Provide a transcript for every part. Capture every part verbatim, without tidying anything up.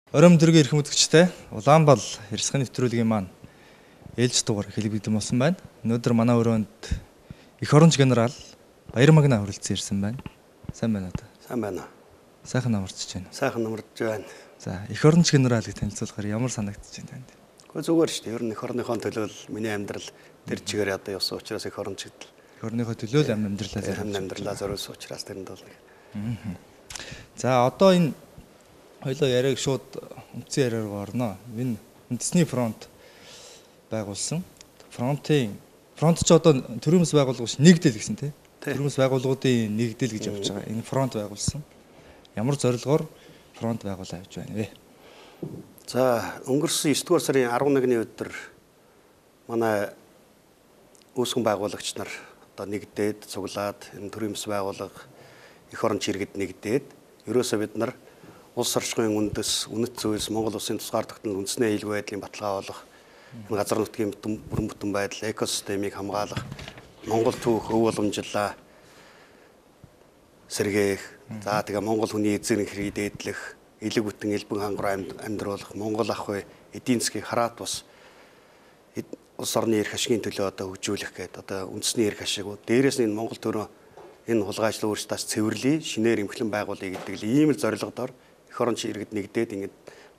Оройн өдрийн эрхэм үзэгчтэй Улаанбал Ярилцлагын нэвтрүүлгийн маань ээлж дугаар хэлбэгдэн болсон байна. Өнөөдөр манай өрөөнд Эх оронч генерал Баяр Магна хүрэлцэн ирсэн байна. Сайн байна уу? Сайн байна. Сайхан намарч байна. Сайхан намарч байна. За, Эх оронч генералыг танилцуулахаар ямар санагдаж байна танд? Гэхдээ зүгээр шүү дээ. Ер нь эх орныхон төлөө миний амьдрал тэр чигээр одоо явсан учраас эх оронч гэдэг. Эх орныхоо төлөө л амьдралаа зориулсан. Амьдралаа зориулсан учраас тэрэнд бол. За, одоо энэ хоёлоо яриаг шууд үндсэн яриаг орно. Энэ үндэсний фронт байгуулсан. Фронтын фронт ч одоо төрийн бас байгууллагч нэгдэл гэсэн тийм. Төрийн бас байгууллагуудын нэгдэл гэж явж байгаа. Энэ фронт байгуулсан. Ямар зорилгоор фронт байгуулаа явж байна вэ? За, өнгөрсөн есдүгээр сарын арван нэгний өдөр манай үүсгэн байгуулагч нар одоо нэгдээд цуглаад энэ төрийн бас байгууллага эх оронч иргэд нэгдээд ерөөсөө бид нар улс орчмын үндэс, үнэт зүйлс, Монгол улсын тусгаар тогтнол үндэсний аюулгүй байдлын баталгаа болох энэ газар нутгийн бүрэн бүтэн байдал, экосистемийг хамгаалах, Монгол түүх, өв уламжлалаа сэргээх, за тэгээ Монгол хүний эзэн хэргийг дээдлэх, элэг бүтэн элбэн хангар амьдруулах, Монгол ах вэ, эдийн засгийг хараат бас улс орны эрх ашигын төлөө одоо хөгжүүлэх гэдэг одоо үндэсний эрх ашиг. Дээрээс нь энэ Монгол төрөө энэ хулгайчлал өөрчлөлтөөс цэвэрлэе, шинээр эмхлэн байгуулъя гэдэг л ийм л зорилгодоор эх оронч иргэд нэгдээд ингээд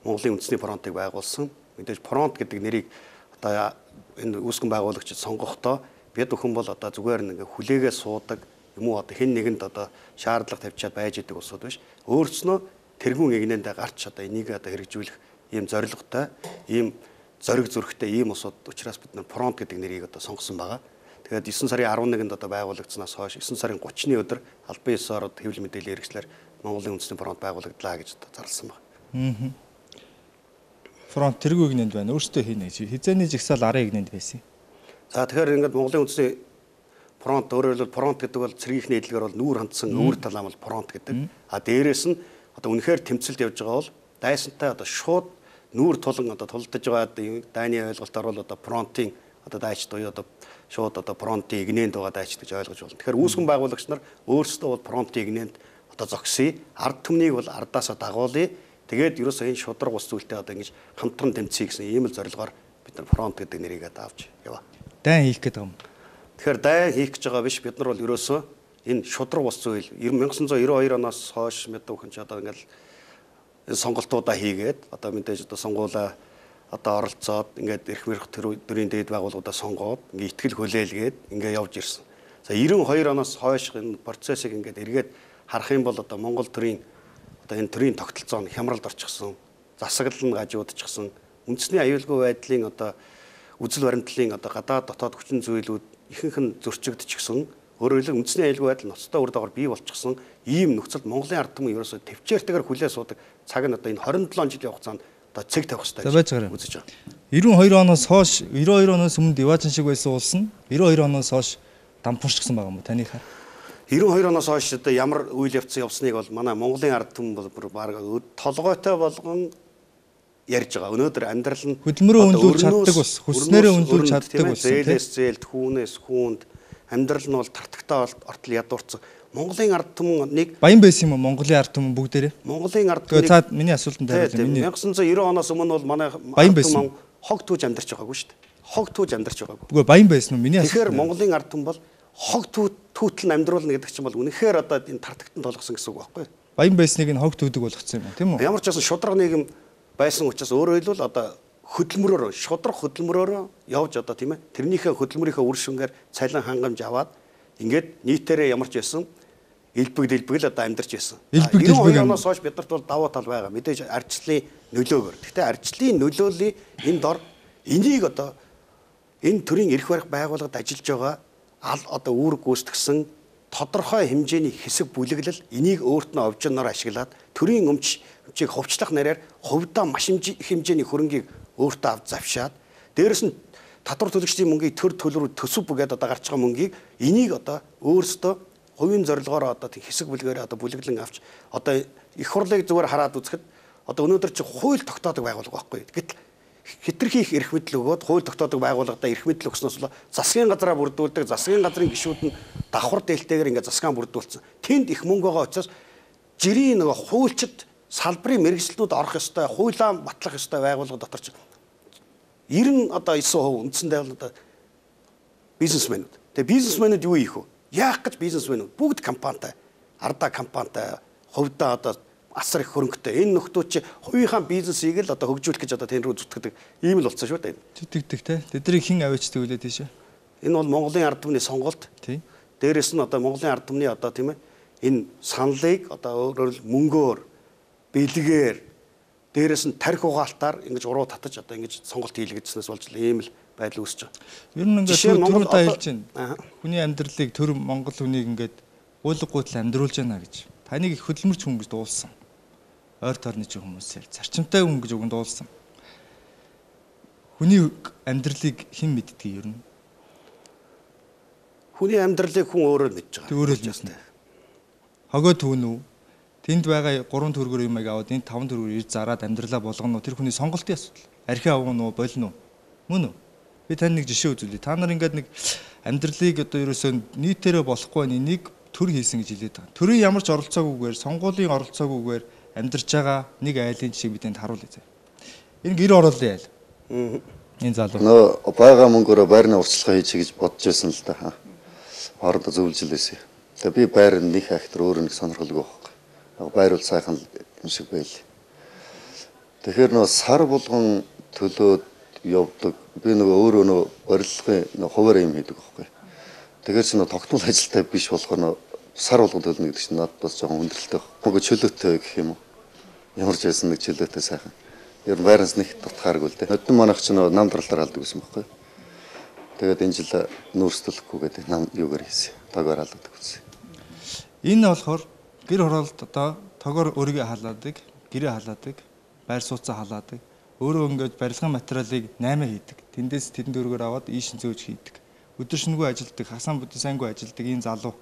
Монголын үндэсний фронтыг байгуулсан. Мэдээж фронт гэдэг нэрийг одоо энэ үүсгэн байгуулагчид сонгохдоо бид бүхэн бол одоо зүгээр нэг хүлээгээ суудаг юм уу одоо хэн нэгэнд одоо шаардлага тавьчаад байж идэг усуд биш. Өөрснөө тэргүүн игнэндээ гарч одоо энийг одоо хэрэгжүүлэх ийм зорилготой, ийм зориг зүрхтэй ийм усуд учраас бид нар фронт гэдэг нэрийг одоо сонгосон байгаа. Тэгээд есөн сарын арван нэгэнд одоо байгуулагдсанаас хойш есөн сарын гуравчны өдөр албан ёсоор хэвлэл мэдээллийн хэрэгслэр Монголын үндэсний фронт байгуулагдлаа гэж зарласан байна. Аа. Фронт тэргүй игнэнд байна. Өөртөө хийнэ гэж. Хизээний жигсаал арын игнэнд байсан. За тэгэхээр ингээд Монголын үндэсний фронт өөрөөр хэлбэл фронт гэдэг бол цэргийнхний эдлэгээр бол нүүр хандсан өвөр талаам бол фронт гэдэг. А дээрээс нь одоо үнэхээр тэмцэлд явж байгаа бол дайсантай одоо шууд нүүр тулан одоо тулдаж байгаа дайны ойлголтоор бол одоо фронтын одоо дайч буюу одоо шууд одоо фронтын игнэнд байгаа дайч гэж ойлгож байна. Тэгэхээр үүсгэн байгуулагч нар өөрсдөө бол фронтын игнэнд одоо зогсъё. Ард түмнийг бол ардаасаа дагуулъя. Тэгээд ерөөсөө энэ шудраг ус зүйлтэй одоо ингэж хамтран тэмцэе гэсэн ийм л зорилгоор бид нар фронт гэдэг нэрийг авч яваа. Дайн хийх гэдэг юм. Тэгэхээр дайн хийх гэж байгаа биш бид нар бол ерөөсөө энэ шудраг ус зүйл 천구 девяносто хоёр оноос хойш мэдээ өхөн ч одоо ингээл энэ сонголтуудаа хийгээд одоо мэдээж одоо сонгуулаа одоо оролцоод ингээд эрх мэрх төрийн дээд байгууллагуудаа сонгоод ингээд итгэл хүлээлгээд ингээд явж ирсэн. За девяносто хоёр оноос хойш энэ процессыг ингээд эргээд харах юм бол одоо Монгол төрийн одоо энэ төрийн тогтолцоо нь хямралд орчихсон, засаглал нь гажуудчихсан, үндэсний аюулгүй байдлын одоо үзэл баримтлалын одоо гадаад дотоод хүчин зүйлүүд ихэнх нь зөрчигдчихсэн. Өөрөөр хэлбэл үндэсний аюулгүй байдал ноцтой үр дагавар бий болчихсон. Ийм нөхцөлд Монголын ард түмэн ерөөсөө төвчээртэйгээр хүлээ суудаг цаг нь одоо энэ двадцать seven жилийн хугацаанд одоо цэг тавих хэрэгтэй гэж үзэж байгаа. девяносто хоёр оноос хойш девяносто хоёр оноос өмнө Диваачан шиг байсан улс нь девяносто хоёр оноос хойш дампуурчсан байгаа юм уу танийхаар? девяносто хоёр оноос хойш одоо ямар үйл явц явсныг бол манай Монголын ард түмэн бол баг толгойтой болгон ярьж байгаа. Өнөөдөр амьдрал нь хөдөлмөрөө үнэлүүлж чаддаг ус, хүснээрээ үнэлүүлж чаддаг ус. Зээлээс зээлд, хүүнээс хүүнд амьдрал нь бол тартагтаа ортол ядуурсан. Монголын ард түмнийг баян байсан юм уу Монголын ард түмэн бүгдээрээ? Монголын ард түмнийг цаад миний асуултанд хариулъя. Миний 천구 девяносто оноос өмнө бол манай ард түмэн хог түүж амьдарч байгаагүй шүү дээ. Хог түүж амьдарч байгаагүй. Үгүй баян байсан уу миний асуулт. Тэгэхээр Монголын ард түмэн бол хог түүтэл амьдруулна гэдэг чинь бол үнэхээр одоо энэ тартагтан толгосон гэсэн үг байхгүй юу? Баян байсныг нь хог түүдэг болгоцсон юм тийм үү? Ямар ч байсан шудраг нийгэм байсан учраас өөрөөр хэлбэл одоо хөдөлмөрөөр шудраг хөдөлмөрөөр явж одоо тийм ээ тэрнийхээ хөдөлмөрийнхөө үр шимгээр цалин хангамж аваад ингээд нийтээрээ ямар ч байсан элбэг дэлбэг л одоо амьдарч байсан. девяносто хоёр оноос хойш биднэрт бол давуу тал байгаа. Мэдээж арчлалын нөлөөгөөр. Гэхдээ арчлалын нөлөөллийн энэ дор энийг одоо энэ төрийн эрх барих байгууллагад ажиллаж байгаа одоо үүрэг гүйцэтгсэн тодорхой хэмжээний хэсэг бүлэглэл энийг өөрт нь овжноор ашиглаад төрийн өмч өмчийг хувьчлах нараар хувьдаа маш их хэмжээний хөрөнгийг өөртөө авч завшаад дээрэс нь татвар төлөгчдийн мөнгийг төр төлрүү төсөв бүгээд одоо гарч байгаа мөнгийг энийг одоо өөрсдөө хувийн зорилгоор одоо хэсэг бүлгээр одоо бүлэглэн авч одоо их хурлыг зүгээр хараад үзэхэд одоо өнөөдөр чи хууль тогтоодог байгууллага байхгүй. Гэтэл хитрхи их эрх мэдэл өгөөд хууль тогтоодог байгууллагада эрх мэдэл өгснөөс засгийн газраа бүрдүүлдэг, засгийн газрын гишүүд нь давхар дээлтэйгээр ингээд засгаан бүрдүүлсэн. Тэнд их мөнгө байгаа учраас жирийн нөгөө хуульчид салбарын мэргэжлүүд орох ёстой, хуулиа батлах ёстой байгууллага дотор ч ерөн одоо девять хувь үндсэндээ бол одоо бизнесмэнүүд. Тэгээ бизнесмэнүүд юу ийх вэ? Яах гэж бизнесмэнүүд бүгд компанитай, ардаа компанитай, хувьдаа одоо асар их хөрөнгөтэй. Энэ нөхдүүд чи хувийнхаа бизнесийг л одоо хөгжүүлэх гэж одоо тэн рүү зүтгэдэг. Ийм л болсон шүү дээ. Зүтгэдэг те. Тэднийг хэн авчдаг үлээ тийш. Энэ бол Монголын ард түмний сонголт. Тийм. Дээрээс нь одоо Монголын ард түмний одоо тийм ээ энэ саналыг одоо өөрөөр хэл мөнгөөр, бэлгээр, дээрээс нь тарих угаалтаар ингэж уруу татаж одоо ингэж сонголт хийлгэжснээс болж ийм л байдал үүсэж байгаа. Ер нь ингээд түрүүдээ хэлж байна. Хүний амьдралыг төр Монгол хүнийг ингээд уулга гуйтал амьдруулж байна гэж. Таныг их хөдөлмөрч хүн гэж дуулсан. Ойр тойрны ч хүмүүсээр зарчимтай хүн гэж үгэнд дуулсан. Хүний амьдралыг хэн мэддэг ер нь? Хүний амьдралыг хүн өөрөө мэдж байгаа. Тэг өөрөө л мэднэ. Хогоо түүн үү? Тэнд байгаа гурван төгрөгөөр юмыг аваад энэ таван төгрөгөөр ирж зараад амьдралаа болгоно уу? Тэр хүний сонголтын асуудал. Архи авгано уу, болно уу? Мөн үү? Би тань нэг жишээ үзүүлье. Та нар ингээд нэг амьдралыг одоо ерөөсөө нийтээрээ болохгүй энийг төр хийсэн гэж хэлээд байгаа. Төрийн ямар ч оролцоогүйгээр, сонгуулийн оролцоогүйгээр амьдарч байгаа нэг айлын жишээ бидэнд харуулъя. Энэ гэр ороолын айл. Энэ залуу. Нөө бага мөнгөөрөө байрны урьдчилгаа хийчих гэж бодож байсан л да. Хоорондоо зөвлөжлээсэй. Тэгээ би байр нэг хактар өөр нэг сонирхолгүй байхгүй. Байр бол сайхан юм шиг байл. Тэгэхээр нөө сар болгон төлөөд явдаг. Би нөгөө өөрөө нөө барилгын нөө хуваарь юм хийдэг байхгүй. Тэгэхээр чи нөө тогтмол ажилтай биш болохоор нөө сар болгон төлнө гэдэг чинь надад бас жоохон хүндрэлтэй байна. Нөгөө чөлөөтэй гэх юм уу? Ямар ч байсан нэг чөлөөтэй сайхан. Ер нь байраас нэг дутхааргүй л дээ. Нөтөн манайх ч нөө нам даралтаар алдаг гэсэн байхгүй. Тэгээд энэ жил нүүрсдэлэхгүй гэдэг нам юугаар хийсэн. Тогоор алдаг гэсэн. Энэ болохоор гэр хороолт одоо тогоор өөрийгөө халаадаг, гэрээ халаадаг, байр сууцаа халаадаг. Өөрөө ингээд барилгын материалыг наймаа хийдэг. Тэндээс тэдэн дөргөөр аваад ийшин зөөж хийдэг. Өдөр шөнөгүй ажилдаг, хасан бүдэн сайнгүй ажилдаг энэ залуу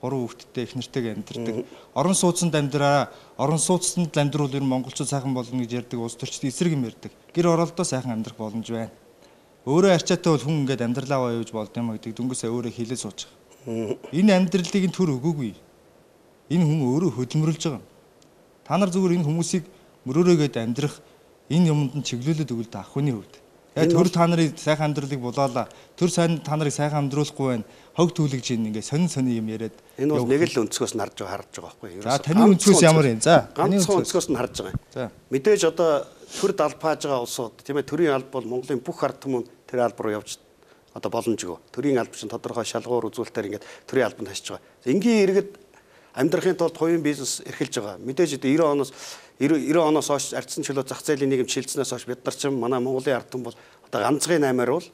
гурван хүүхэдтэй их нэртэйг амьдардаг. Орон сууцанд амьдраа, орон сууцанд амьдруул ер нь монголчууд сайхан болно гэж ярьдаг, улс төрчид эсрэг юм ярьдаг. Гэр хороолтоо сайхан амьдрах боломж байна. Өөрөө арчаатай бол хүн ингээд амьдралаа явуулж болд юм гэдэг дүнгээсээ өөрөө хэлээ сууж байгаа. Энэ амьдралыг нь төр өгөөгүй. Энэ хүн өөрөө хөдөлмөрлж байгаа. Та нар зүгээр энэ хүмүүсийг мөрөөрөөгээд амьдрах энэ юмд нь чиглүүлээд өгөл та ах хүний хувьд. Яг төр та нарын сайхан амьдралыг булаалаа. Төр сайн та нарыг сайхан амьдруулахгүй байна. Хог түлэгж ийн ингээ сонин сонин юм яриад. Энэ бол нэг л өнцгөөс нь харж байгаа харж байгаа байхгүй юу? За таны өнцгөөс ямар юм? За таны өнцгөөс нь харж байгаа. За мэдээж одоо төр далбааж байгаа улсууд тийм ээ төрийн алба бол Монголын бүх ард түмэн тэр алба руу явж одоо боломжгүй. Төрийн алба чинь тодорхой шалгуур үзүүлэлтээр ингээд төрийн албанд хашиж байгаа. Энгийн иргэд амьдрахын тулд хувийн бизнес эрхэлж байгаа. Мэдээж одоо девяносто оноос девяносто оноос хойш ардсан чөлөө зах зээлийн нийгэм шилжснээс хойш бид нар ч манай Монголын ард түмэн бол одоо ганцхан аймаар бол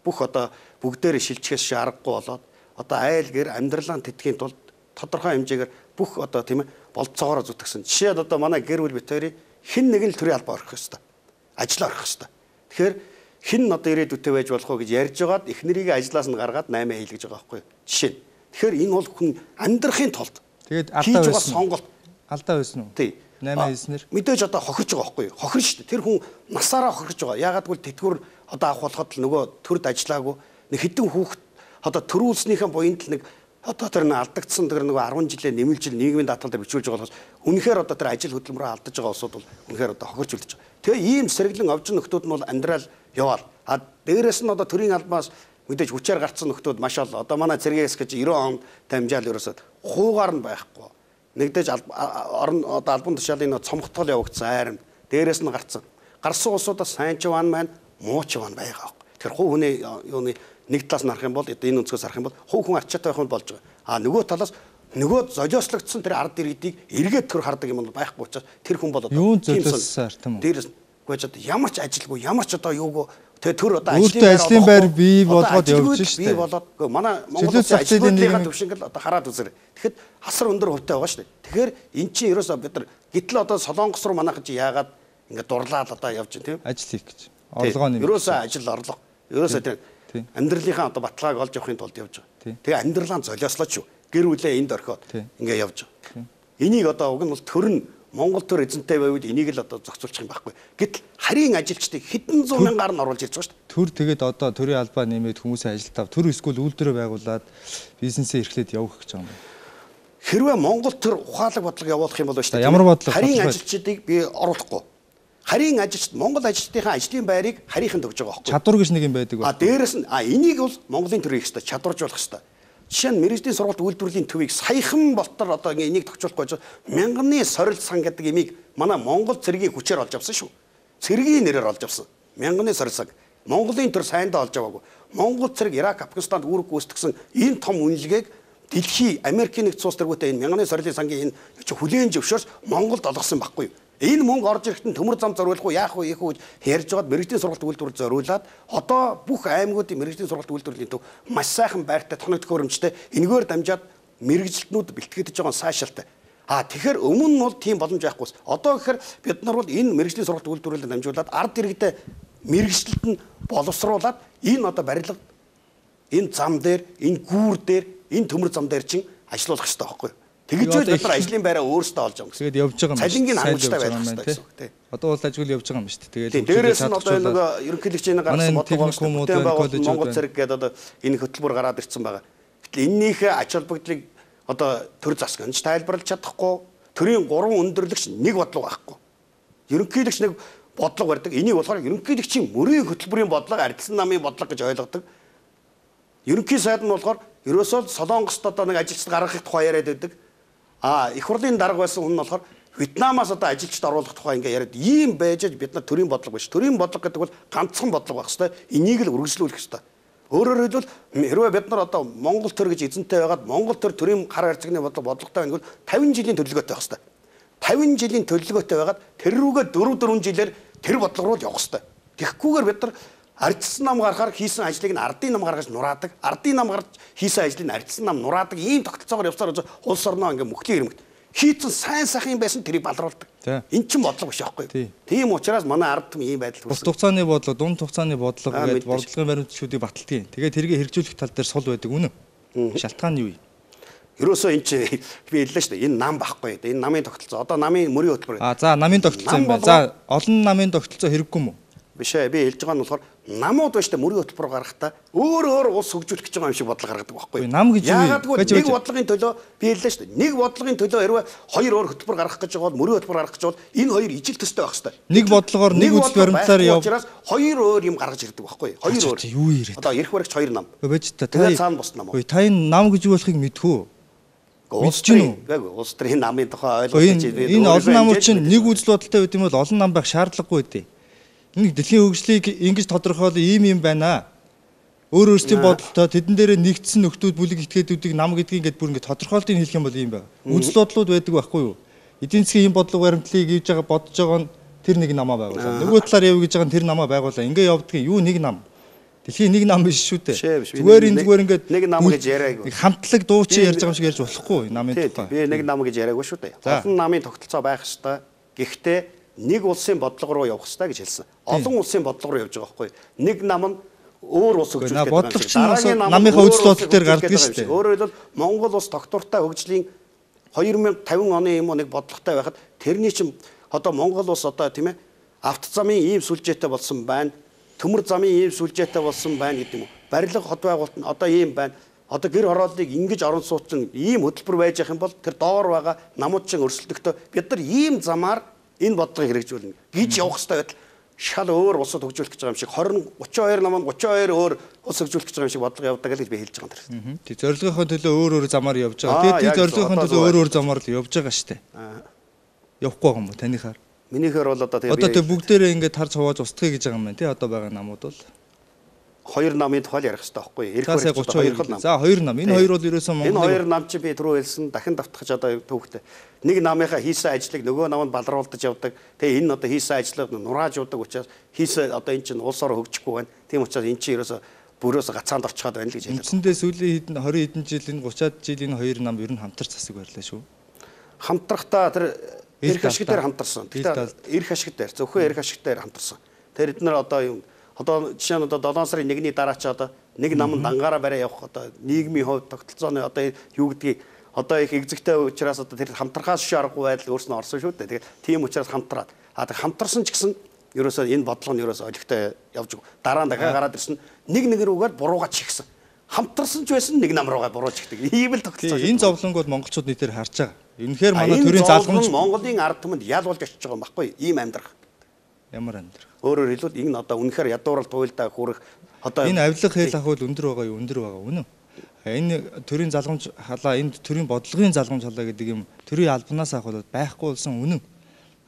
бүх одоо бүгдээрээ шилжихээс аргагүй болоод одоо айл гэр амьдралаа тэтгэхийн тулд тодорхой хэмжээгээр бүх одоо тийм ээ болцоогоор зүтгэсэн. Жишээд одоо манай гэр бүл бит хоёрын хэн нэг нь төрийн албаа орох ёстой. Ажил орох ёстой. Тэгэхээр хэн одоо ирээдүйтэй байж болох вэ гэж ярьж байгаад эхнэрийг ажлаас нь гаргаад наймаа хийлгэж байгаа байхгүй юу? Жишээ. Тэгэхээр энэ бол хүн амьдрахын тулд тэгээд алдаа байсан сонголт алдаа байсан уу? Тий. наймаа хийснээр мэдээж одоо хохирч байгаа байхгүй юу? Хохирч шүү дээ. Тэр хүн насаараа хохирч байгаа. Яагаад гэвэл тэтгэвэр одоо авах болоход л нөгөө төрд ажиллаагүй нэг хэдэн хүүхэд одоо төрүүлснийхэн буйнд л нэг одоо тэр нэг алдагдсан тэр нөгөө арван жилээ нэмэлжил нийгмийн даатгалаар бичүүлж байгаа болохоос үнэхээр одоо тэр ажил хөдөлмөрөөр алдаж байгаа улсууд бол үнэхээр одоо хохирч үлдэж байгаа. Тэгээ ийм сэргэлэн овжин нөхдүүд нь бол амьдрал яваал. А дээрэс нь одоо төрийн албаас мэдээж хүчээр гарцсан нөхдүүд маш ол одоо манай цэргээс гэж девяносто онд дамжаал ерөөсөд хуугаар нь байхгүй. Нэгдэж орон одоо албан тушаалын цомгтгол явагдсан айрам дээрэс нь гарцсан. Гарсан улсуудаас сайн ч ван маань муу ч ван байгаа. Тэр хуу хүний юуны нэг талаас нь харах юм бол энэ өнцгөөс харах юм бол хуу хүн арчаатай байх нь болж байгаа. А нөгөө талаас нөгөө золиослогдсон тэр ард иргэдийг эргээд төр хардаг юм бол байхгүй учраас тэр хүн бол юу золиослсаар тийм үү? Дээрээс гүйж одоо ямар ч ажилгүй ямар ч одоо юугүй тэгээ төр одоо ажлын байр бий болгоод явж штэ. Бий болоод манай Монгол ажлын төвшинг л одоо хараад үзэр. Тэгэхэд хасар өндөр хувьтай байгаа штэ. Тэгэхээр эн чинь ерөөсөө бид нар гэтэл одоо Солонгос руу манайхан чи яагаад ингээд дурлаад одоо явж байна тийм ажил хийх гэж. Орлогоо нэмэх. Ерөөсөө ажил орлого. Ерөөсөө тэр амьдралынхаа одоо баталгааг олж явахын тулд явж байгаа. Тэгээ амьдралаа золиослооч юу. Гэр бүлээ энд орхиод ингээ явж байгаа. Энийг одоо уг нь бол төр нь Монгол төр эзэнтэй байвал энийг л одоо зохицуулчих юм байхгүй. Гэтэл харийн ажилчдыг хэдэн зуун мянгаар нь оруулж ирж байгаа шүү дээ. Төр тэгээд одоо төрийн албаа нэмээд хүмүүсээ ажилтав. Төр эсвэл үйлдвэрээ байгуулад бизнесээ эрхлээд явах гэж байгаа юм байна. хэрвээ Монгол төр ухаалаг бодлого явуулах юм бол шүү дээ. Ямар бодлого? Харийн ажилчдыг би оруулахгүй. Харийн ажилчид Монгол ажилчдын ажлын байрыг харийнхан төгж байгаа байхгүй. Чадвар гэж нэг юм байдаг. А дээрэс нь а энийг бол Монголын төр хийх хэрэгтэй, чадваржуулах хэрэгтэй. Жишээ нь мэргэжлийн сургалт үйлдвэрлэлийн төвийг саяхан болтор одоо энийг тохижуулахгүй мянганы сорил сан гэдэг имийг манай Монгол цэргийн хүчээр олж авсан шүү. Цэргийн нэрээр олж авсан. Мянганы сорил сан. Монголын төр сайндаа олж аваагүй. Монгол цэрэг Ирак, Афганистанд үүрэг гүйцэтгсэн энэ том үнэлгээг дэлхий Америкийн нэгдсэн улс төргүүтэй энэ мянганы сорилын сангийн энэ хүлээн зөвшөөрч Монголд олгосон байхгүй юу? Энэ мөнгө орж ирэхдээ төмөр зам зориулах уу, яах вэ, ийх үү ярьж байгаад мэргэжлийн сургалт үйлдвэрлэл зориулаад одоо бүх аймагуудын мэргэжлийн сургалт үйлдвэрлэлийн төв маш сайхан байртай тоног төхөөрөмжтэй энэгээр дамжаад мэргэжилтнүүд бэлтгэгдэж байгаа сайшаалтай. А тэгэхээр өмнө нь бол тийм боломж байхгүйс. Одоо гэхээр бид нар бол энэ мэргэжлийн сургалт үйлдвэрлэлд дамжуулаад ард иргэдэд мэргэжилт нь боловсруулад энэ одоо барилга энэ зам дээр, энэ гүүр дээр, энэ төмөр зам дээр чинь ажиллуулах хэрэгтэй байхгүй юу? Тэгж бид нар ажлын байраа өөрсдөө олж байгаа. Тэгээд явж байгаа юм. Цалингийн хангалттай байх хэрэгтэй гэсэн үг тийм. Одоо бол ажил явж байгаа юм шүү дээ. Тэгээд дээрээс нь одоо нэг ерөнхийлөгчийн гаргасан бодлого коллеж Монгол цэрэг гэдэг одоо энэ хөтөлбөр гараад ирсэн байгаа. Гэтэл энэнийхээ ач холбогдлыг одоо төр засгч тайлбарлаж чадахгүй, төрийн гурван өндөрлөгч нэг бодлого байхгүй. Ерөнхийлөгч нэг бодлого барьдаг. Энийг болохоор ерөнхийлөгчийн мөрийн хөтөлбөрийн бодлого ардсан намын бодлого гэж ойлгодог. Ерөнхий сайд нь болохоор ерөөсөө Солонгост одоо нэг ажилчид гаргахыг тухай яриад байдаг. А их хурлын дарга байсан хүн нь болохоор Вьетнамаас одоо ажилчид оруулах тухай ингээ яриад ийм байж бид нар төрийн бодлого биш. Төрийн бодлого гэдэг бол ганцхан бодлого байх хэвээр энийг л үргэлжлүүлэх хэвээр. Өөрөөр хэлбэл хэрвээ бид нар одоо Монгол төр гэж эзэнтэй байгаад Монгол төр төрийн хар харьцагны бодлого бодлоготой байна гэвэл тавин жилийн төлөвлөгөөтэй байх хэвээр. тавин жилийн төлөвлөгөөтэй байгаад тэр рүүгээ дөрөв дөрвөн жилээр тэр бодлого руу явах хэвээр. Тэгэхгүйгээр бид нар ардсан нам гаргахаар хийсэн ажлыг нь ардын нам гаргаж нураадаг. Ардын нам гаргаж хийсэн ажлыг нь ардсан нам нураадаг. Ийм тогтолцоогоор явсаар улс орноо ингээ мөхлийн ирмэгт. Хийцэн сайн сайхан байсан тэрийг балруулдаг. Эн чинь бодлого биш аахгүй юу? Тийм учраас манай ард түмэн ийм байдал хүрсэн. Улс хугацааны бодлого, дунд хугацааны бодлого гэдэг бодлогын баримтчдыг баталдаг. Тэгээд тэрийг хэрэгжүүлэх тал дээр сул байдаг үнэ. Шалтгаан нь юу вэ? Ерөөсөө энэ чи би хэллээ шүү дээ. Энэ нам байхгүй. Энэ намын тогтолцоо. Одоо намын мөрийн хөтөлбөр. А за намын тогтолцоо юм байна. За олон намын тогтолцоо хэрэггүй мүү? Биш ээ. Би хэлж байгаа нь болохоор намууд ба шүү дээ мөрийн хөтөлбөр гаргахдаа өөр өөр улс хөгжүүлэх гэж байгаа юм шиг бодлого гаргадаг байхгүй юу? Нам гэж юу? Яагаад нэг бодлогын төлөө би хэллээ шүү дээ. Нэг бодлогын төлөө хэрвээ хоёр өөр хөтөлбөр гаргах гэж байгаа бол мөрийн хөтөлбөр гаргах гэж бол энэ хоёр ижил төстэй байх хэрэгтэй. Нэг бодлогоор нэг үзэл баримтлаар яв. Учраас хоёр өөр юм гаргаж ирдэг байхгүй юу? Хоёр өөр. Юу ирээд? Одоо эрх баригч хоёр нам. Байж та та цаана бус нам. Ой та энэ нам гэж юу болохыг мэдхүү. Улс төрийн улс төрийн намын тухай ойлгож байна. Энэ олон намууд чинь нэг үзэл бодолтой байт юм бол олон нам байх шаардлагагүй дээ. Энэ дэлхийн хөгжлийг ингэж тодорхойлол ийм юм байна. Өөр өөрсдийн бодолтой тэдэн дээрээ нэгдсэн нөхдүүд бүлэг этгээдүүдийг нам гэдгийг ингээд бүр ингээд тодорхойлтыг хэлэх юм бол ийм байна. Үзэл бодлууд байдаг байхгүй юу? Эдийн засгийн ийм бодлого баримтлалыг хийж байгаа бодож байгаа нь тэр нэг намаа байгуулаа. Нөгөө талаар явъя гэж байгаа нь тэр намаа байгуулаа. Ингээ явдгийн юу нэг нам. Дэлхийн нэг нам биш шүү дээ. Зүгээр энэ зүгээр ингээд нэг нам гэж яриаггүй. Хамтлаг дуучин ярьж байгаа юм шиг ярьж болохгүй намын тухай. Би нэг нам гэж яриаггүй шүү дээ. Олон намын тогтолцоо байх ёстой. Гэхдээ нэг улсын бодлого руу явах ёстой гэж хэлсэн. Олон улсын бодлого руу явж байгаа байхгүй. Нэг нам нь өөр улс хөгжүүлэх гэдэг бодлого чинь намынхаа үзэл бодол дээр гардаг шүү дээ. Өөрөөр хэлбэл Монгол улс доктортой хөгжлийн хоёр мянга и тавин оны юм уу нэг бодлоготой байхад тэрний чинь одоо Монгол улс одоо тийм ээ авто замын ийм сүлжээтэй болсон байна. Төмөр замын ийм сүлжээтэй болсон байна гэдэг юм уу. Барилга хот байгуулалт нь одоо ийм байна. Одоо гэр хорооллыг ингэж орон суучин ийм хөтөлбөр байж явах юм бол тэр доор байгаа намууд чинь өрсөлдөхтөө бид нар ийм замаар энэ бодлогыг хэрэгжүүлнэ гэж явах хэрэгтэй байтал шал өөр улсад хөгжүүлэх гэж байгаа юм шиг тwenty thirty-two намд thirty-two өөр улс хөгжүүлэх гэж байгаа юм шиг бодлого явуулдаг гэж би хэлж байгаа юм. Тэг зорилгынхоо төлөө өөр өөр замаар явж байгаа. Тэгээд тэр зорилгынхоо төлөө өөр өөр замаар л явж байгаа шүү дээ. Явахгүй байгаа юм уу танихаар? Минийхэр бол одоо тэгээ одоо тэг бүгдээрээ ингээд харж хувааж устгахыг гэж байгаа юм байна тий одоо байгаа намууд бол хоёр намын тухай ярих хэрэгтэй байхгүй юу? Эрх баригч хоёр нам. За хоёр нам. Энэ хоёр бол ерөөсөн Монгол. Энэ хоёр нам чи би түрүү хэлсэн дахин давтахж одоо төвхтэй. Нэг намынхаа хийсэн ажлыг нөгөө намд балруулдаж явдаг. Тэгээ энэ одоо хийсэн ажлыг нурааж явдаг учраас хийсэн одоо эн чинь улс ороо хөгжихгүй байна. Тийм учраас эн чинь ерөөсө бүрөөсө гацаанд орчиход байна л гэж хэлдэг. Үндсэндээ сүүлийн хэдэн twenty хэдэн жил энэ thirty жилийн хоёр нам ер нь хамтарч засаг барьлаа шүү. Хамтрахдаа тэр эрх ашиг дээр хамтарсан. Тэгтээ эрх ашиг дээр зөвхөн эрх ашиг дээр хамтарсан. Тэр эднэр одоо юм одоо жишээ нь одоо seven сарын one-ний дараа ч одоо нэг нам дангаараа барай явах одоо нийгмийн хувьд тогтолцооны одоо юу гэдгийг одоо их экзэгтэй учраас одоо тэр хамтрахаас шиг аргагүй байдал өөрснөө орсон шүү дээ. Тэгээд тийм учраас хамтраад а тэг хамтарсан ч гэсэн ерөөсөө энэ бодлого нь ерөөсөө олигтой явж байгаа. Дараа нь дахиад гараад ирсэн нэг нэг рүүгээр буруугаа чихсэн. хамтарсан ч байсан нэг нам руугаа буруулж ихдэг. Ийм л тогтолцоо. Энэ зовлонг бол монголчууд нийтээр харж байгаа. Үнэхээр манай төрийн залгамж Монголын ард түмэнд ял болж очиж байгаа юм баггүй. Ийм амьдрах. Ямар амьдрах. Өөрөөр хэлбэл энэ одоо үнэхээр ядуурал туйлдаа хүрэх одоо энэ авилга хэл ах бол өндөр байгаа юу? Өндөр байгаа үнэн. Энэ төрийн залгамж халаа, энэ төрийн бодлогын залгамж халаа гэдэг юм төрийн албанаас авах бол байхгүй болсон үнэн.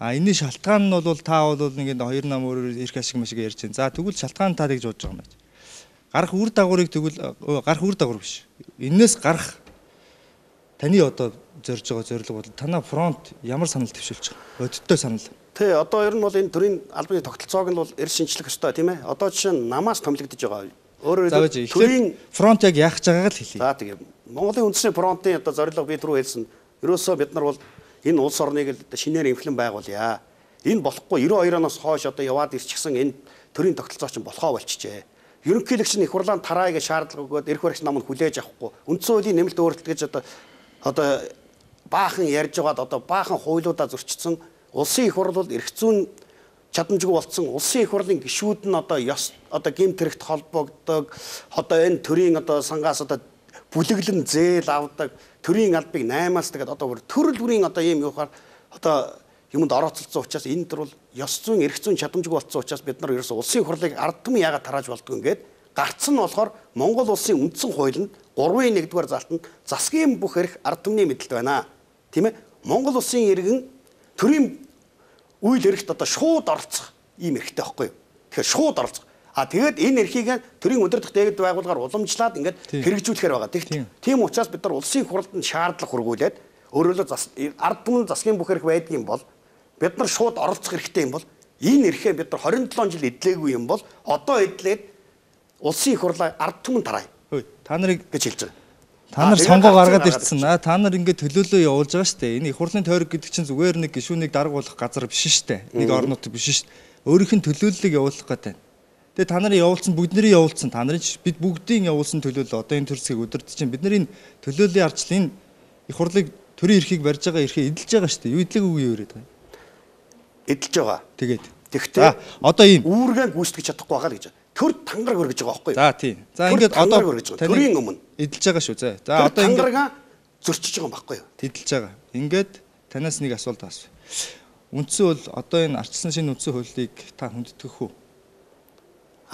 А энэний шалтгаан нь бол та бол ингээд хоёр нам өөрөөр ирэх ашиг машиг ярьж байна. За тэгвэл шалтгаан та гэж бодож байгаа юм байна. Гарах үр дагаврыг тэгвэл гарах үр дагавар биш. Энээс гарах таны одоо зорж байгаа зорилго бол танаа фронт ямар санал төвшүүлж байгаа? Бодиттой санал. Тэ одоо ер нь бол энэ төрийн албаны тогтолцоог нь бол эр шинжлэх ёстой тийм ээ. Одоо жишээ нь намаас томилогдож байгаа. Өөрөөр хэлбэл төрийн фронт яг яах гэж байгааг л хэлье. За тийм. Монголын үндэсний фронтын одоо зорилго би түрүү хэлсэн. Ерөөсөө бид нар бол энэ улс орныг л шинээр инфлэн байгуулъя. Энэ болохгүй девяносто deux оноос хойш одоо яваад ирчихсэн энэ төрийн тогтолцоо чинь болохоо болчихжээ. Ерөнхийлөгч нь их хурлаанд тараа гэж шаардлага өгөөд эрх баригч намд хүлээж авахгүй. Үндсэн хуулийн нэмэлт өөрчлөлт гэж одоо одоо баахан ярьж байгаад одоо баахан хуулиудаа зөрчсөн улсын их хурл бол эрх зүйн чадамжгүй болцсон улсын их хурлын гишүүд нь одоо ёс одоо гэмт хэрэгт холбогддог одоо энэ төрийн одоо сангаас одоо бүлэглэн зээл авдаг төрийн албыг наймаас тэгээд одоо төрөл бүрийн одоо ийм юухаар одоо юмд орооцолцсон учраас энэ төр бол ёс зүйн эрх зүйн чадамжгүй болцсон учраас бид нар ерөөсөө улсын их хурлыг ард түмэн яагаад тарааж болдгоо ингээд гарц нь болохоор Монгол улсын үндсэн хуулинд гурван нэгдүгээр залтанд засгийн бүх эрх ард түмний мэдлэлд байна. Тийм ээ? Монгол улсын иргэн төрийн үйл эрхт одоо шууд оролцох ийм эрхтэй байхгүй юу? Тэгэхээр шууд оролцох. А тэгээд энэ эрхийг төрийн өдөртөх дээгд байгуулгаар уламжлаад ингээд хэрэгжүүлэхээр байгаа. Тийм учраас бид нар улсын хурлд нь шаардлага хургуулад өөрөөр хэлбэл ард түмэн засгийн бүх эрх байдаг юм бол бид нар шууд оролцох эрхтэй юм бол энэ эрхээ бид нар двадцать seven жил эдлээгүй юм бол одоо эдлээд улсын их хурлаа ард түмэн тараа. Та нарыг гэж хэлж байгаа. Та нар сонгоо гаргаад ирсэн. Та нар ингээд төлөөлөө явуулж байгаа шүү дээ. Энэ их хурлын тойрог гэдэг чинь зүгээр нэг гишүүнийг даргуулах газар биш шүү дээ. Нэг орнууд биш шүү дээ. Өөрийнх нь төлөөллийг явуулах гэдэг. Тэгээ та нарын явуулсан бүгдний явуулсан. Та нарын бид бүгдийн явуулсан төлөөлөл одоо энэ төрсгийг өдөрт чинь бид нарын төлөөллийн арчлын их хурлыг төрийн эрхийг барьж байгаа эрхээ эдэлж байгаа шүү дээ. Юу эдлэг үгүй юу яриад байгаа. Эдэлж байгаа. Тэгээд. Тэгтээ одоо ийм үүргээ гүйцэтгэж чадахгүй байгаа л гэж. Төр тангараг өргөж байгаа байхгүй юу? За тийм. За ингээд одоо төрийн өмнө эдэлж байгаа шүү. За. За одоо ингээд тангарага зөрчиж байгаа юм байхгүй юу? Эдэлж байгаа. Ингээд танаас нэг асуулт асуу. Үндсэн бол одоо энэ ардчилсан шинэ үндсэн хуулийг та хүндэтгэх үү?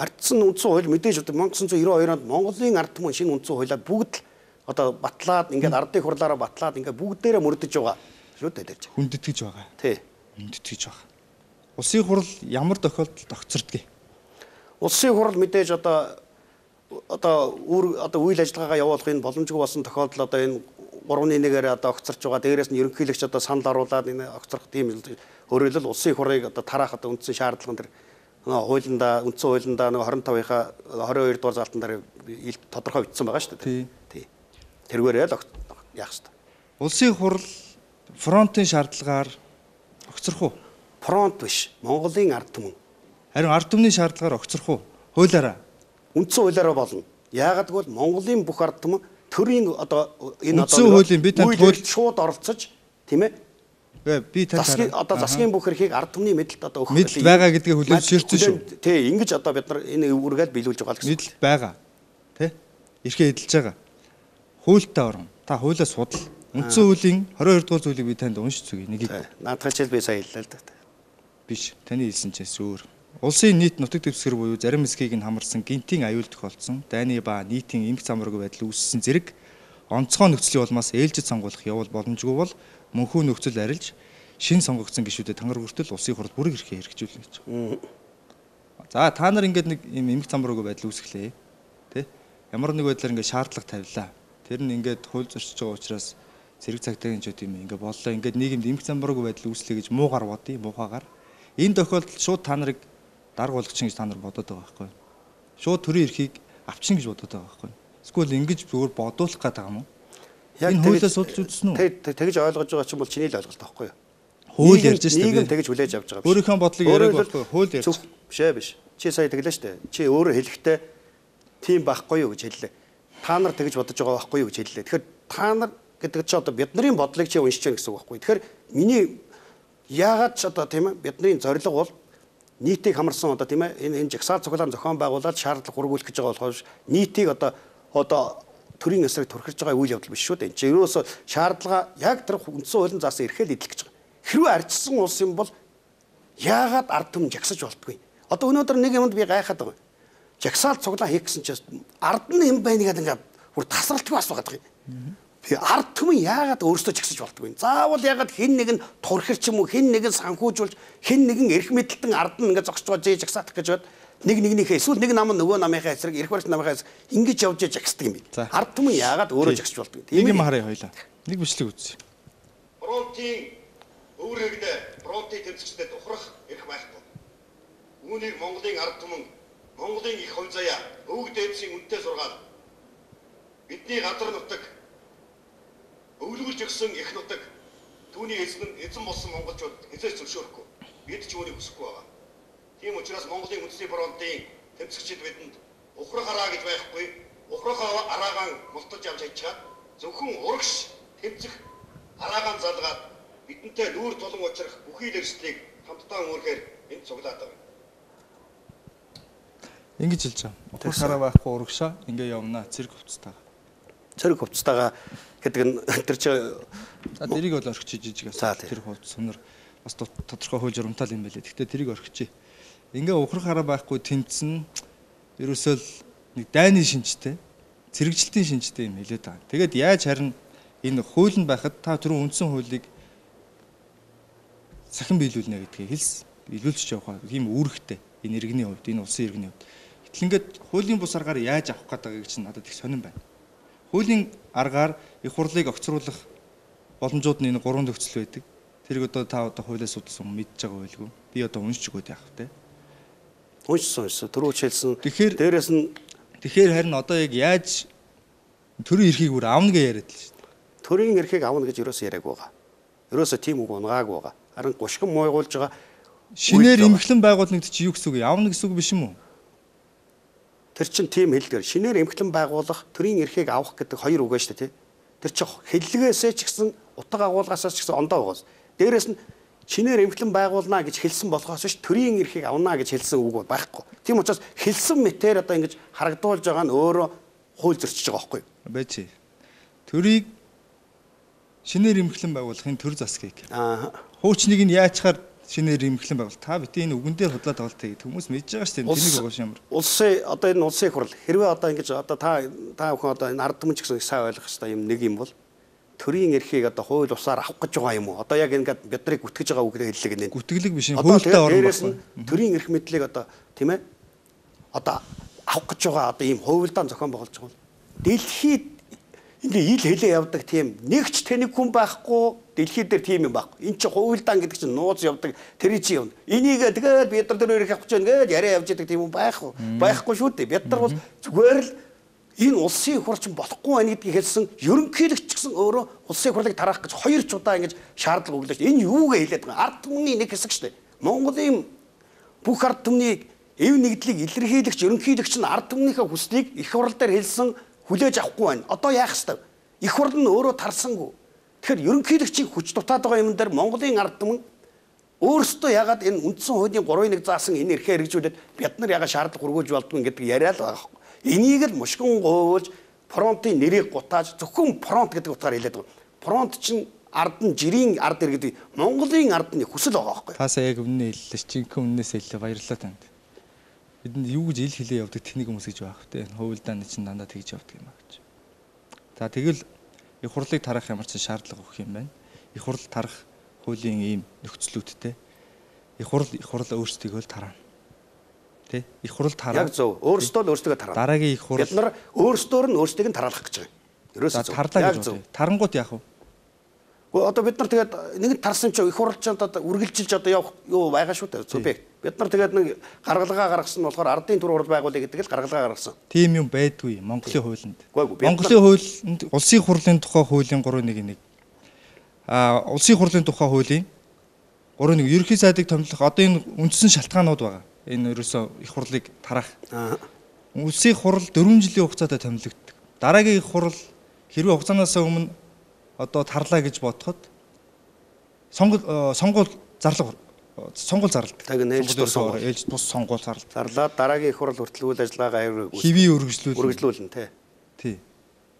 Ардчилсан үндсэн хууль мэдээж одоо 천구၉九онд Монголын ард түмэн шинэ үндсэн хуулиа бүгд л одоо батлаад ингээд ардын хурлаараа батлаад ингээд бүгдээрээ мөрдөж байгаа шүү дээ. Хүндэтгэж байгаа. Тий. Хүндэтгэж байгаа. Улсын хурл ямар тохиолдолд огцордгийг? Улсын хурл мэдээж одоо одоо үр одоо үйл ажиллагаагаа явуулахын боломжгүй болсон тохиолдол одоо энэ гурван нэгээр одоо огцорч байгаа. Дээрээс нь ерөнхийлөгч одоо санал оруулаад энэ огцорох тийм өөрөөр хэлбэл улсын хурыг одоо тараах одоо үндсэн шаардлаган дээр хуулиндаа үндсэн хуулиндаа нэг двадцать пять-ийнхаа двадцать two дугаар залтан дээр тодорхой бичсэн байгаа шүү дээ. Тий. Тэргээрээ л яах ёстой. Улсын хурл фронтын шаардлагаар огцорох уу? Фронт биш. Монголын ард түмэн. Харин ард түмний шаардлагаар огцорох уу? Хуулиараа. Үндсэн хуулиараа болно. Яагаад гэвэл Монголын бүх ард түмэн төрийн одоо энэ одоо үндсэн хуулийн бид танд хууль шууд оролцож тийм ээ. Би тань одоо засгийн бүх эрхийг ард түмний мэдэлд одоо өгөх мэдэл байгаа гэдгийг хүлээж ширсэн шүү. Тий, ингэж одоо бид нар энэ үргэлж биелүүлж байгаа гэсэн. Мэдэл байгаа. Тэ? Эрхээ эдэлж байгаа. Хуультай орно. Та хуулиа судал. Үндсэн хуулийн twenty-two дугаар зүйлийг би танд уншиж зүгье. Нэгийг. Наадах хичээл би сая хэллээ л да. Биш. Таны хэлсэн чинь өөр. Улсын нийт нутаг дэвсгэр буюу зарим хэсгийг нь хамарсан гинтийн аюул тохиолдсон, дайны ба нийтийн эмх замраг байдал үүссэн зэрэг онцгой нөхцөлийн улмаас ээлжид сонгуулах явуул боломжгүй бол мөнхөө нөхцөл арилж шин сонгогдсон гишүүдэд тангар хүртэл улсын хурд бүрэг эрхээ хэрэгжүүлнэ гэж. За та нар ингээд нэг юм эмх замраг байдал үүсгэлээ. Тэ? Ямар нэг байдлаар ингээд шаардлага тавилаа. Тэр нь ингээд хууль зөрчиж байгаа учраас зэрэг цагтаагийн ч юм ингээд боллоо. Ингээд нийгэмд эмх замраг байдал үүслэе гэж муугар бодъё, муухагаар. Энэ тохиолдолд шууд та нарыг даргуулагч гэж та нар бодоод байгаа байхгүй юу? Шууд төрийн эрхийг авчин гэж бодоод байгаа байхгүй юу? Эсвэл ингэж зүгээр бодуулах гэдэг юм уу? Энэ хуулиас судалж үзсэн үү? Тэгж ойлгож байгаа ч юм бол чиний л ойлголт байхгүй юу? Хууль ярьж штэ. Нийгэм тэгж хүлээж авч байгаа биш. Өөрийнхөө бодлыг яриаг байхгүй хууль ярьж. Бишээ биш. Чи сая тэглээ штэ. Чи өөрөө хэлэхдээ тийм байхгүй юу гэж хэллээ. Та нар тэгж бодож байгаа байхгүй юу гэж хэллээ. Тэгэхээр та нар гэдэг чи одоо бидний бодлыг чи уншиж байна гэсэн үг байхгүй юу? Тэгэхээр миний яагаад ч одоо тийм ээ бидний зорилго бол нийтийг хамарсан одоо тийм ээ энэ энэ жагсаал цуглаан зохион байгуулаад шаардлага хургуулах гэж байгаа болохоос нийтийг одоо одоо төрийн эсрэг турхиж байгаа үйл явдал биш шүү дээ. Энд чинь ерөөсөө шаардлага яг тэр үндсэн хуулийн заасан эрхэл идэх гэж байгаа. Хэрвээ арчсан улс юм бол яагаад ард түмэн жагсаж болтгүй? Одоо өнөөдөр нэг юмд би гайхаад байгаа. Жагсаал цуглаа хийх гэсэн чинь ард нь юм байна гэдэг ингээд бүр тасралтгүй асуугаад байгаа юм. Би ард түмэн яагаад өөрсдөө жагсаж болтгүй? Заавал яагаад хэн нэг нь турхир ч юм уу, хэн нэг нь санхүүжүүлж, хэн нэг нь эрх мэдэлтэн ард нь ингээд зогсож байгаа жээ жагсаах гэж бод нэг нэгнийхээ эсвэл нэг нам нөгөө намынхаа эсрэг эрх барьж намынхаа ингэж явж жагсдаг юм би. Ард түмэн яагаад өөрөө жагсаж болтгүй? Нэг юм харъя хоёлаа. Нэг бичлэг үзье. Фронтын өөрөөгнөө фронтын тэмцэгчдэд ухрах эрх байхгүй. Үүнийг Монголын ард түмэн, Монголын их хувь заяа, өвөг дээдсийн үнэтэй сургаал бидний газар нутаг өвлгөлж өгсөн их нутаг түүний эзэн эзэн болсон монголчууд эзэж зөвшөөрөхгүй. Бид ч үүнийг хүсэхгүй байгаа. Тийм учраас Монголын үндэсний фронтын тэмцэгчид бидэнд ухрах араа гэж байхгүй, ухрах араагаан мултаж явж хайчаад зөвхөн урагш тэмцэх араагаан залгаад бидэнтэй нүүр тулан учрах бүхий л эрсдлийг хамтдаа өөрөөр энд цуглаад байгаа. Ингэж хэлж байгаа. Ухрах араа байхгүй урагшаа ингээ явна цэрэг хувцастаа. Цэрэг хувцастайгаа гэдэг нь тэр чи за тэрийг бол орхиж жижигээс тэр хувцас сонор бас тодорхой хууль журамтай юм байлээ. Гэхдээ тэрийг орхиж. Ингээ ухрах араа байхгүй тэмцэн ерөөсөө нэг дайны шинжтэй цэрэгжилтийн шинжтэй юм хэлээд байгаа. Тэгээд яаж харин энэ хуулинд байхад та түрүүн үндсэн хуулийг сахин биелүүлнэ гэдгийг хэлс биелүүлж явах ийм үүрэгтэй энэ иргэний хувьд энэ улсын иргэний хувьд. Гэтэл ингээд хуулийн бус аргаар яаж авах гэдэг чинь надад их сонирн байна. Хуулийн аргаар их хурлыг огцруулах боломжууд нь энэ гурван төгсөл байдаг. Тэрийг одоо та одоо хуулиас судалсан мэдж байгаа байлгүй. Би одоо уншиж өгöd яах вэ? Уншсан уншсан. Түрүү хэлсэн. Тэгэхээр дээрэс нь тэгэхээр харин одоо яг яаж төрийн эрхийг бүр авна гэж яриад л шүү дээ. Төрийн эрхийг авна гэж ерөөсөө яриаг байгаа. Ерөөсөө тийм үг унгаагүй байгаа. Харин гушган мойгуулж байгаа. Шинээр эмхлэн байгуулнагд чи юу гэсэн үг? Авна гэсэн үг биш юм уу? Тэр чинь тийм хэлдгээр шинээр эмхлэн байгуулах төрийн эрхийг авах гэдэг хоёр үг байна шүү дээ. Тэр чинь хэллэгээсээ ч гэсэн утга агуулгасаас ч гэсэн ондоо байгаас. Дээрээс нь шинээр эмхлэн байгуулна гэж хэлсэн болохоос ш төрийн эрхийг авна гэж хэлсэн үг байхгүй. Тийм учраас хэлсэн мэтээр одоо ингэж харагдуулж байгаа нь өөрөө хууль зөрчиж байгаа байхгүй. Бачи. Төрийг шинээр эмхлэн байгуулахын төр засгийг. Аа. Хуучныг нь яачаар шинээр эмхлэн байгуул. Та битээ энэ үгэн дээр худлаад байгаа л хүмүүс мэдж байгаа шүү дээ. Тэнийг байгаа юм. Улсын одоо энэ улсын их хурл хэрвээ одоо ингэж одоо та та бүхэн одоо энэ ард түмэн ч гэсэн сайн ойлгох хэрэгтэй юм нэг юм бол төрийн эрхийг одоо хууль усаар авах гэж байгаа юм уу? Одоо яг ингээд бид нарыг гүтгэж байгаа үгээр хэллэг нэ. Гүтгэлэг биш энэ хуультай орно байна. Төрийн эрх мэдлийг одоо тийм ээ одоо авах гэж байгаа одоо ийм хуульдаан зохион байгуулж байгаа. Дэлхийд ингээ ил хэлээ явдаг тийм нэгч тэнэг хүн байхгүй дэлхий дээр тийм юм байхгүй. Энд чинь хуульдаан гэдэг чинь нууц явдаг тэр чи юм. Энийг тэгээд бид нар тэр эрх авах гэж байна гэж яриа явж байгаа тийм юм байхгүй. Байхгүй шүү дээ. Бид нар бол зүгээр л энэ улсын хурч болохгүй байна гэдгийг хэлсэн ерөнхийлөгч гэсэн өөрөө улсын хурлыг тараах гэж хоёр ч удаа ингэж шаардлага өглөөж энэ юугээ хэлээд байгаа ард түмний нэг хэсэг шүү дээ. Монголын бүх ард түмний эв нэгдлийг илэрхийлэгч ерөнхийлөгч нь ард түмнийхээ хүслийг их хурл дээр хэлсэн хүлээж авахгүй байна. Одоо яах ёстой? Их хурл нь өөрөө тарсангүй. Тэгэхээр ерөнхийлөгчийн хүч дутаад байгаа юм дээр Монголын ард түмэн өөрсдөө ягаад энэ үндсэн хуулийн гурван нэг заасан энэ эрхээ хэрэгжүүлээд бид нар ягаад шаардлага хүргүүлж болдгүй гэдэг яриа л байгаа. Энийг л мушгин гоовж фронтын нэрийг гутааж зөвхөн фронт гэдэг утгаар хэлээд байгаа. Фронт чинь ард нь жирийн ард иргэдэг Монголын ардны хүсэл байгаа байхгүй. Таасаа яг өмнө хэллээ. Чинхэн өмнөөс хэллээ. Баярлалаа танд. Бидэнд юу гэж ил хэлээ явдаг тэнийг хүмүүс гэж байх вэ? Хуульдааны чинь дандаа тэгж явдаг юм аа гэж. За тэгэл их хурлыг тарах ямар ч шаардлага өгөх юм байна. Их хурл тарах хуулийн ийм нөхцлүүдтэй. Их хурл их хурл өөрсдийгөө л тараа. Тэ? Их хурл тараа. Яг зөв. Өөрсдөө л өөрсдөө тараа. Дараагийн их хурл бид нар өөрсдөө нь өөрсдийг нь тараалах гэж байгаа. Ерөөсөө зөв. Тарлаа гэж байна. Тарангууд яах вэ? Гэхдээ одоо бид нар тэгээд нэг нь тарсан чинь их хурлчанд одоо үргэлжилж одоо явах юу байгаа шүү дээ. Субъект. Бид нар тэгээд нэг гаргалгаа гаргасан нь болохоор ардын түр хурл байгуулъя гэдэг л гаргалгаа гаргасан. Тийм юм байдгүй Монголын хуулинд. Монголын хуулинд улсын хурлын тухай хуулийн гурван нэг нэг. Аа улсын хурлын тухай хуулийн гурван нэг ерөнхий сайдыг томилох одоо энэ үндсэн шалтгаанууд байгаа. Энэ ерөөсөө их хурлыг тарах. Улсын хурл дөрвөн жилийн хугацаатай томилогддог. Дараагийн их хурл хэрвээ хугацаанаас өмнө одоо тарлаа гэж бодоход сонгол сонгуул зарлага сонгуул зарлалт. Тэг нээлж тус сонгуул ээлж тус сонгуул зарлалт. Зарлаад дараагийн их хурл хүртэл үйл ажиллагаагаа хэвийн үргэлжлүүлнэ. Үргэлжлүүлнэ тий. Тий.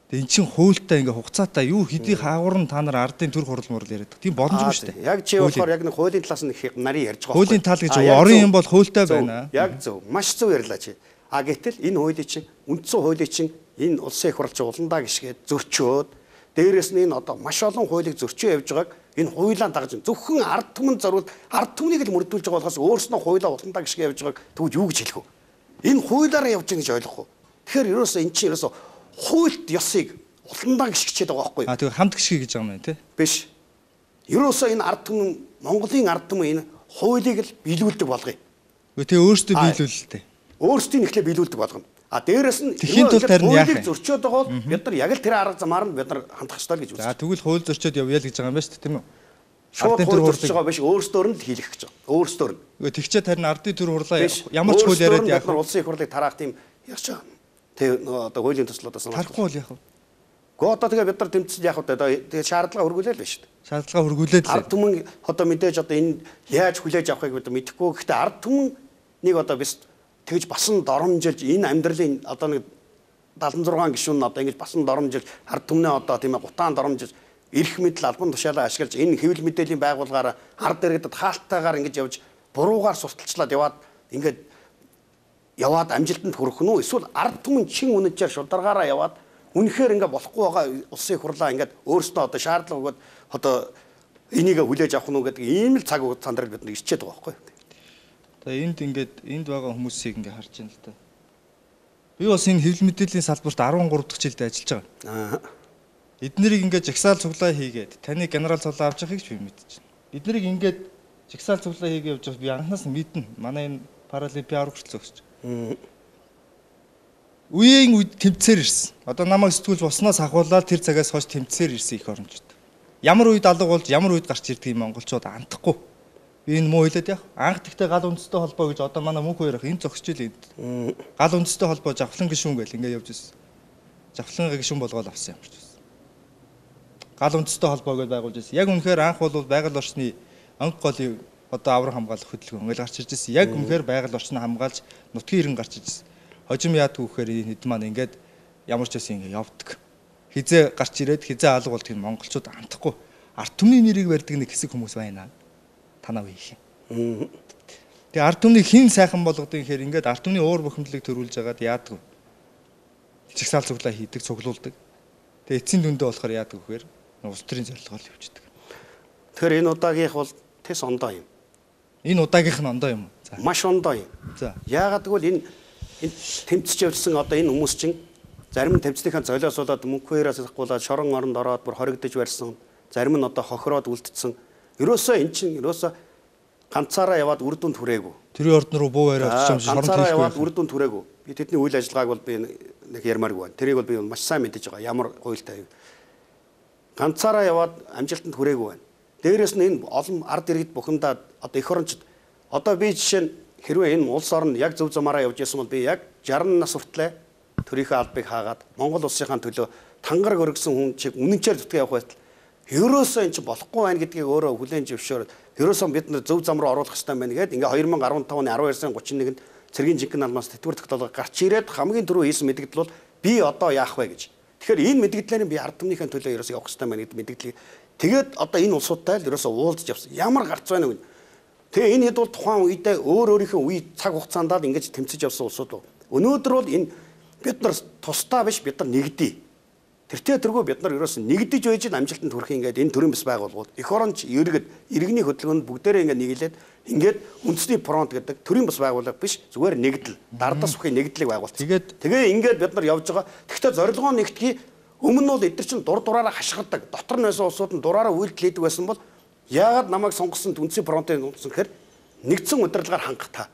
Тэгээ эн чин хуультай ингээ хугацаатай юу хэдий хаагур нь та нар ардын төр хурал мурал яриад. Тийм боломжгүй шүү дээ. Яг чи болохоор яг нэг хуулийн талаас нь их нарийн ярьж байгаа. Хуулийн тал гэж орон юм бол хуультай байна. Яг зөв. Маш зөв ярьлаа чи. А гэтэл энэ хуулийн чинь үндсэн хуулийн чинь энэ улсын их хурлч уландаа гიშгээд зөрчөөд дээрэс нь энэ одоо маш олон хуулийг зөрчөө явж байгааг энэ хуулиа дагаж зөвхөн ард түмэн зориулт ард түмнийг л мөрдүүлж байгаа болохоос өөрснөө хуулиа уландаа гიშгээ явж байгааг тэгвэл юу гэж хэлэх вэ? Энэ хуулиараа явж байгаа гэж ойлгох уу? Тэгэхээр ерөөсөө эн чинь ерөөсөө хуульт ёсыг уландаа гიშгчээд байгаа байхгүй юу? А тэгээ хамт гიშгэ гэж байгаа юм байна тий. Биш. Ерөөсөө энэ ард түмэн Монголын ард түмэн энэ хуулийг л биелүүлдэг болгоё. Тэгээ өөрсдөө биелүүлэлтэй. Өөрсдийн ихлэ биелүүлдэг болгоно. А дээрэс нь тэхийн тул тарин яах вэ? Зөрчөөд байгаа бол бид нар яг л тэр арга замаар нь бид нар хандах ёстой л гэж үздэг. За тэгвэл хууль зөрчөөд явъя л гэж байгаа юм байна шүү дээ тийм үү? Шууд хууль зөрчиж байгаа биш өөрсдөөр нь л хийх гэж байгаа. Өөрсдөөр нь. Үгүй тэгчээ тарин ардын төр хурлаа ямар ч хууль яриад яах вэ? Улсын их хурлыг тараах тийм ярьж байгаа. Тэг одоо хуулийн төслөөс санаа. Тарахгүй бол яах вэ? Гоо одоо тэгээ бид нар тэмцэл яах вэ? Тэгээ шаардлага хөргүүлээ л байна шүү дээ. Шаардлага хөргүүлээд л. Ард түмэн одоо мэдээж одоо энэ яаж хүлээж авахыг бид мэдэхгүй. Гэхдээ ард түмэн нэг одоо биш тэгж басан доромжилж энэ амьдралын одоо нэг дадлан зургаан гишүүн нь одоо ингэж басан доромжилж ард түмнээ одоо тийм ээ гутаан доромжилж эрх мэдэл албан тушаалаа ашиглаж энэ хэвлэл мэдээллийн байгууллагаараа ард иргэдэд хаалттайгаар ингэж явж буруугаар сурталчлаад яваад ингээд яваад амжилтанд хүрэх нь үү эсвэл ард түмэн чин үнэхээр шударгаараа яваад үнэхээр ингээд болохгүй байгаа улсын их хурлаа ингээд өөрснөө одоо шаардлага өгөөд одоо энийг хүлээж авах нь үү гэдэг ийм л цаг хугацаанд бид нар ирчээд байгаа байхгүй юу? Тэгээ энд ингээд энд байгаа хүмүүсийг ингээд харж байна л да. Би бас энэ хэвлэл мэдээллийн салбарт дөрвөн дахь жилдээ ажиллаж байгаа. Аа. Эднэрийг ингээд жагсаал цуглаа хийгээд таны генерал цуглаа авч явахыг ч би мэдчихэв. Эднэрийг ингээд жагсаал цуглаа хийгээ явж байгаа би анханаас нь мэднэ. Манай энэ паралимпиад хүртэл зогсож. Аа. Үеийн үед тэмцээр ирсэн. Одоо намайг сэтгүүлж босноос ахуулаад тэр цагаас хойш тэмцээр ирсэн их орончууд. Ямар үед алга болж ямар үед гарч ирдэг юм монголчууд андахгүй. Би энэ муу хэлээд яах. Анх тэгтээ гал үндэстэй холбоо гэж одоо манай мөнх хоёр ах энэ зогсож ийл энд. Гал үндэстэй холбоо завхлан гишүүн гэл ингээд явж ирсэн. Завхлан гишүүн болгоод авсан юм шиг. Гал үндэстэй холбоо гэж байгуулж ирсэн. Яг үнэхээр анх бол байгаль орчны анх голын одоо авраг хамгаалах хөтөлбөр ингээд гарч ирж ирсэн. Яг үнэхээр байгаль орчныг хамгаалж нутгийн иргэн гарч ирж ирсэн. Хожим яадаг вэхээр энэ хэд маань ингээд ямар ч байсан ингээд явдаг. Хизээ гарч ирээд хизээ алга болдгийг монголчууд андахгүй. Ард түмний нэрийг барьдаг нэг хэсэг хүмүүс байна. Танаа үеийнх юм. Тэгээ ард түмнийг хэн сайхан болгодгийг гэхээр ингээд ард түмний уур бухимдлыг төрүүлж агаад яадаг. Чигсаал цуглаа хийдэг, цуглуулдаг. Тэгээ эцсийн дүндээ болохоор яадаг вэхээр улс төрийн зорилгоор явждаг. Тэгэхээр энэ удаагийнх бол тэс ондоо юм. Энэ удаагийнх нь ондоо юм. За. Маш ондоо юм. За. Яагаад гэвэл энэ энэ тэмцэж явсан одоо энэ хүмүүс чинь зарим нь тэмцлийнхаа золиосуулаад мөнхөөс ахгуулаад шорон оронд ороод бүр хоригдож барьсан. Зарим нь одоо хохироод үлдсэн. Ерөөсөө эн чинь ерөөсөө ганцаараа яваад үр дүнд хүрээгүй. Тэрийн орд руу буу яриад очиж шорон ганцаараа яваад үр дүнд хүрээгүй. Би тэдний үйл ажиллагааг бол би нэг ярмааргүй байна. Тэрийг бол би маш сайн мэдэж байгаа. Ямар хуйлтай. Ганцаараа яваад амжилтанд хүрээгүй байна. Дээрээс нь энэ олон ард иргэд бухимдаад одоо эх орончид одоо би жишээ нь хэрвээ энэ улс орн яг зөв замаараа явж байсан бол би яг жарган нас хүртлээр төрийнхөө албыг хаагаад Монгол улсынхаа төлөө тангараг өргөсөн хүн чиг үнэнчээр зүтгэж явах байтал ерөөсөө энэ ч болохгүй байна гэдгийг өөрөө хүлээн зөвшөөрөд ерөөсөө бид нар зөв зам руу оруулах хэрэгтэй байна гэдэг ингээ две тысячи десять оны twelve сарын thirty-one нэгнд цэргийн жинхэнэ алмаас тэтгэвэр тогтоолго гарч ирээд хамгийн түрүү хийсэн мэдгдэл бол би одоо яах вэ гэж. Тэгэхээр энэ мэдгдлээр би ард түмнийхээ төлөө ерөөсөө явах хэрэгтэй байна гэдэг мэдгдлийг тэгээд одоо энэ улсуудтай л ерөөсөө уулзж явсан. Ямар гарц байна вэ? Тэгээ энэ хэд бол тухайн үедээ өөр өөрийнхөө үе цаг хугацаанд л ингэж тэмцэж явсан улсууд бол өнөөдөр бол энэ бид нар тусдаа биш бид нар нэгдээ. Тэртээ тэргүй бид нар ерөөсөн нэгдэж байж амжилтанд хүрэх ингээд энэ төрийн бас байгууллагууд эх оронч иргэд иргэний хөдөлгөөнд бүгдээрээ ингээд нэглээд ингээд үндэсний фронт гэдэг төрийн бас байгууллага биш зүгээр нэгдэл дардас бүхий нэгдлийг байгуул. Тэгээд тэгээ ингээд бид нар явж байгаа. Тэгэхдээ зорилгоо нэгтгэе өмнө нь бол эдгээр чинь дур дураараа хашгирдаг. Дотор нь байсан улсууд нь дураараа үйлдэл хийдэг байсан бол яагаад намайг сонгосон үндэсний фронтын нууцсан гэхээр нэгдсэн удирдлагаар хангах та.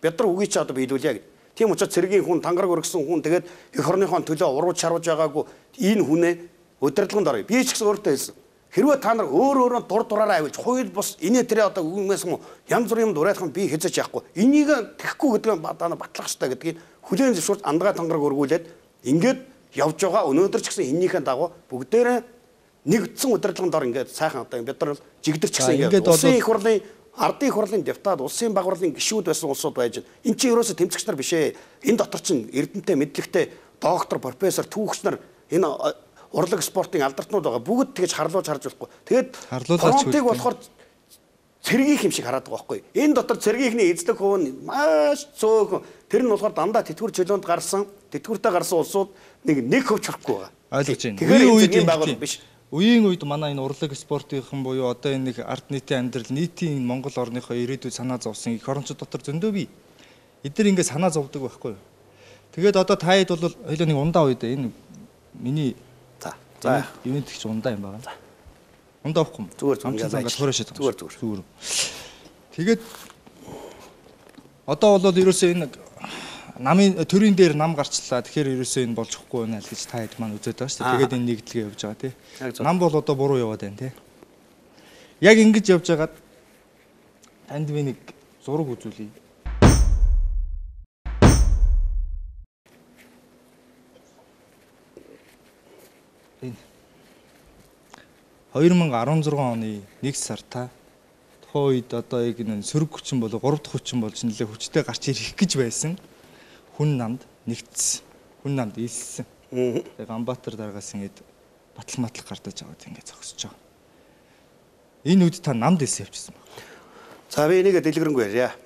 Бид нар үгүй чи одоо биелүүлье гэдэг. Тийм учраас цэргийн хүн тангараг өргөсөн хүн тэгээд эх орныхон төлөө урууж шарваж байгаагүй энэ хүнээ удирдлаганд орё. Би ч гэсэн өөртөө хэлсэн. Хэрвээ та нар өөр өөрөөр дур дураараа авилж хууль бус инээ тэрэ одоо үгмээс юм янз бүрийн юм дуурайхан би хэзэж яахгүй. Энийг тэхгүй гэдэг нь та нар батлах хэрэгтэй гэдгийг хүлээн зөвшөөрч андгаа тангараг өргүүлээд ингээд явж байгаа. Өнөөдөр ч гэсэн эннийхэн дагуу бүгдээрээ нэгдсэн удирдлаганд ор ингээд сайхан одоо бид нар жигдэрч гэсэн ингээд улсын их хурлын ардын их хурлын депутат улсын баг хурлын гишүүд байсан улсууд байж байна. Энд чинь ерөөсө тэмцэгч нар биш ээ. Энэ дотор чинь эрдэнэтэй мэдлэгтэй доктор, профессор, түүхч нар энэ урлаг спортын алдартнууд байгаа. Бүгд тэгж харлуулж харж болохгүй. Тэгээд фронтыг болохоор цэргийнх юм шиг хараад байгаа байхгүй. Энэ дотор цэргийнхний эзлэг хувь нь маш цөөхөн. Тэр нь болохоор дандаа тэтгэвэр чөлөөнд гарсан, тэтгэвэртэй гарсан улсууд нэг нэг хөвч хөрөхгүй байгаа. Ойлгож байна. Тэгэхээр үед юм байгуул биш. Үеийн үед манай энэ урлаг спортынхан буюу одоо энэ нэг ард нийтийн амьдрал, нийтийн Монгол орныхоо ирээдүйд санаа зовсон их орончууд дотор зөндөө бий. Эдгээр ингэ санаа зовдөг байхгүй. Тэгээд одоо та хэд бол хоёул нэг ундаа үед энэ миний за за ивент гэх чинь ундаа юм байна. Ундаа авахгүй. Зүгээр зүгээр зүгээр зүгээр зүгээр. Тэгээд одоо бол ерөөсөө энэ намын төрийн дээр нам гарчлаа. Тэгэхээр ерөөсөө энэ болж өгөхгүй байна л гэж та хэд маань үзээд байгаа шүү дээ. Тэгээд энэ нэгдлэгээ явж байгаа тий. Нам бол одоо буруу яваад байна тий. Яг ингэж явж байгаад танд би нэг зураг үзүүлье. Энэ хоёр мянга арван зургаан оны нэг сар та тухайн үед одоо яг энэ сөрөг хүчин болоо гурав дахь хүчин болж нэлээ хүчтэй гарч ирэх гэж байсан хүн намд нэгдсэн. Хүн намд илсэн. Яг Амбатар дараагаас ингэж батал матал гардаж аваад ингэ зогсож байгаа. Энэ үед та намд илсэн явчихсан байна. За би энийг дэлгэрэнгүй ярья.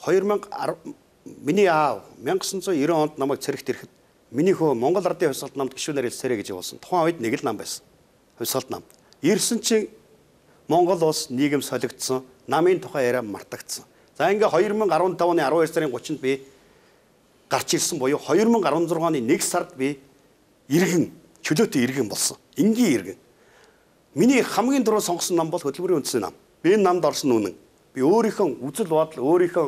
хоёр мянга миний аав мянга девятьсот девяносто онд намайг цэрэгт ирэхэд миний хөө Монгол Ардын хувьсгалт намд гишүүнээр илсээрэй гэж явуулсан. Тухайн үед нэг л нам байсан. Хувьсгалт нам. Ирсэн чинь Монгол улс нийгэм солигдсон, намын тухай яриа мартагдсан. За ингээ хоёр мянга арван тавны арван хоёр сарын гуравчнд би гарч ирсэн буюу хоёр мянга арван зургаан оны нэг сард би иргэн, чөлөөтэй иргэн болсон. Энгийн иргэн. Миний хамгийн дөрөв сонгосон нам бол хөтөлбөрийн үндэсний нам. Би энэ намд орсон үнэн. Би өөрийнхөө үзэл бодол, өөрийнхөө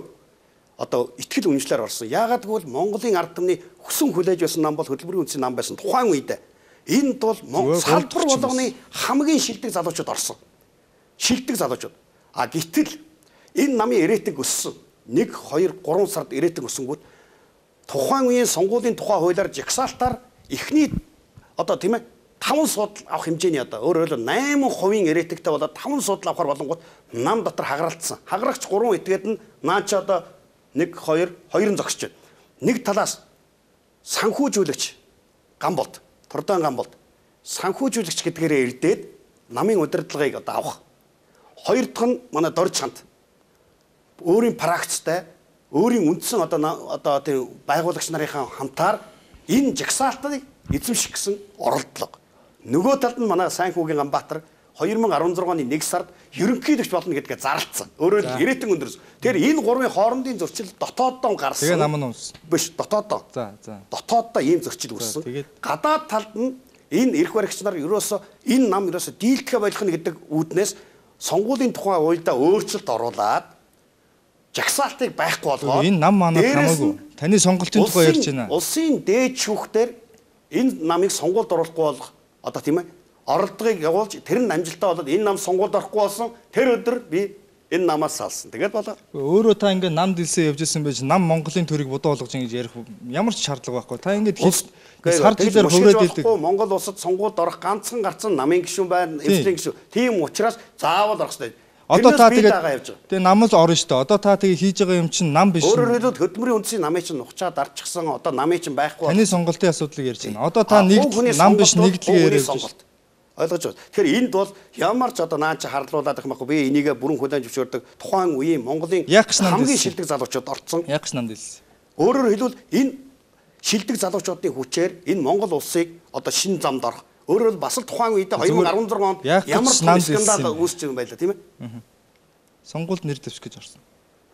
одоо итгэл үнэмшлэр орсон. Яагаад гэвэл Монголын ард түмний хүсэн хүлээж байсан нам бол хөтөлбөрийн үндэсний нам байсан. Тухайн үед энд бол салбар болгоны хамгийн шилдэг залуучууд орсон. Шилдэг залуучууд. А гэтэл энэ намын ирээдэг өссөн. нэг, хоёр, гурван сард ирээдэг өссөнгүүт тухайн үеийн сонгуулийн тухай хуулиар жагсаалтаар эхний одоо тийм ээ таван судал авах хэмжээний одоо өөрөөр хэлбэл восемь хувийн ирээдэгтэй болоод таван судал авахар болонгууд нам дотор хагаралтсан. Хагарагч гурван этгээд нь наача одоо нэг, хоёр, хоёрын зогсож байна. Нэг талаас санхүүжүүлэгч Гамболд, Турдан Гамболд санхүүжүүлэгч гэдгээрээ ирдээд намын удирдлагыг одоо авах. Хоёр дахь нь манай Дорж ханд өөрийн практиктай өөрийн үндсэн одоо одоо тийм байгуулагч нарын хамтаар энэ жагсаалтыг эзэмших гэсэн оролдлого. Нөгөө талд нь манай сайн хүүгийн Ганбаатар хоёр мянга арван зургаан оны нэг сард ерөнхийлөгч болно гэдгээ зарлцсан. Өөрөөр хэлбэл ирээдүйн өндөрс. Тэгэхээр энэ гурвын хоорондын зөрчил дотооддоо гарсан. Тэгээ нам нь унсан. Биш, дотооддоо. За, за. Дотооддоо ийм зөрчил үүссэн. Гадаад талд нь энэ эрх баригч нар ерөөсөө энэ нам ерөөсөө дийлдэхэ болох нь гэдэг үүднээс сонгуулийн тухай уйлдаа өөрчлөлт оруулаад жагсаалтыг байхгүй болгоод энэ нам манад хамаагүй таны сонголтын тухай ярьж байна. Улсын дээд шүүхтэр энэ намыг сонгуульд оруулахгүй бол одоо тийм ээ оролдогыг явуулж тэр нь амжилттай болоод энэ нам сонгуульд орохгүй болсон тэр өдөр би энэ намаас салсан. Тэгээд болоо. Өөрөө та ингээд нам дэлсэн явж исэн байж нам Монголын төрийг бодоо болгож ингэж ярих ямар ч шаардлага байхгүй. Та ингээд сар жилээр хувраад идэг. Монгол улсад сонгуульд орох ганцхан гарцсан намын гишүүн байна, эвслийн гишүүн. Тийм учраас заавал орох хэрэгтэй. Одоо та тэгээд тэгээ нам л орно шүү дээ. Одоо та тэгээ хийж байгаа юм чинь нам биш. Өөрөөр хэлбэл хөдөлмөрийн үндэсний намын чинь ухчаад дарчихсан. Одоо намын чинь байхгүй. Таны сонголтын асуудлыг ярьж байна. Одоо та нэг нам биш нэгдлэгээ яриад байна. Ойлгож байна. Тэгэхээр энд бол ямар ч одоо наач харлуулаад их байхгүй. Би энийгээ бүрэн хүлээн зөвшөөрдөг. Тухайн үеийн Монголын хамгийн шилдэг залуучууд орцсон. Яг ч нам дэлсэн. Өөрөөр хэлбэл энэ шилдэг залуучуудын хүчээр энэ Монгол улсыг одоо шинэ замд орох. Өөрөөр бас л тухайн үедээ хоёр мянга арван зургаан онд ямар ч скандал үүсч байгаа байлаа тийм ээ. Сонгуульд нэр дэвших гэж орсон.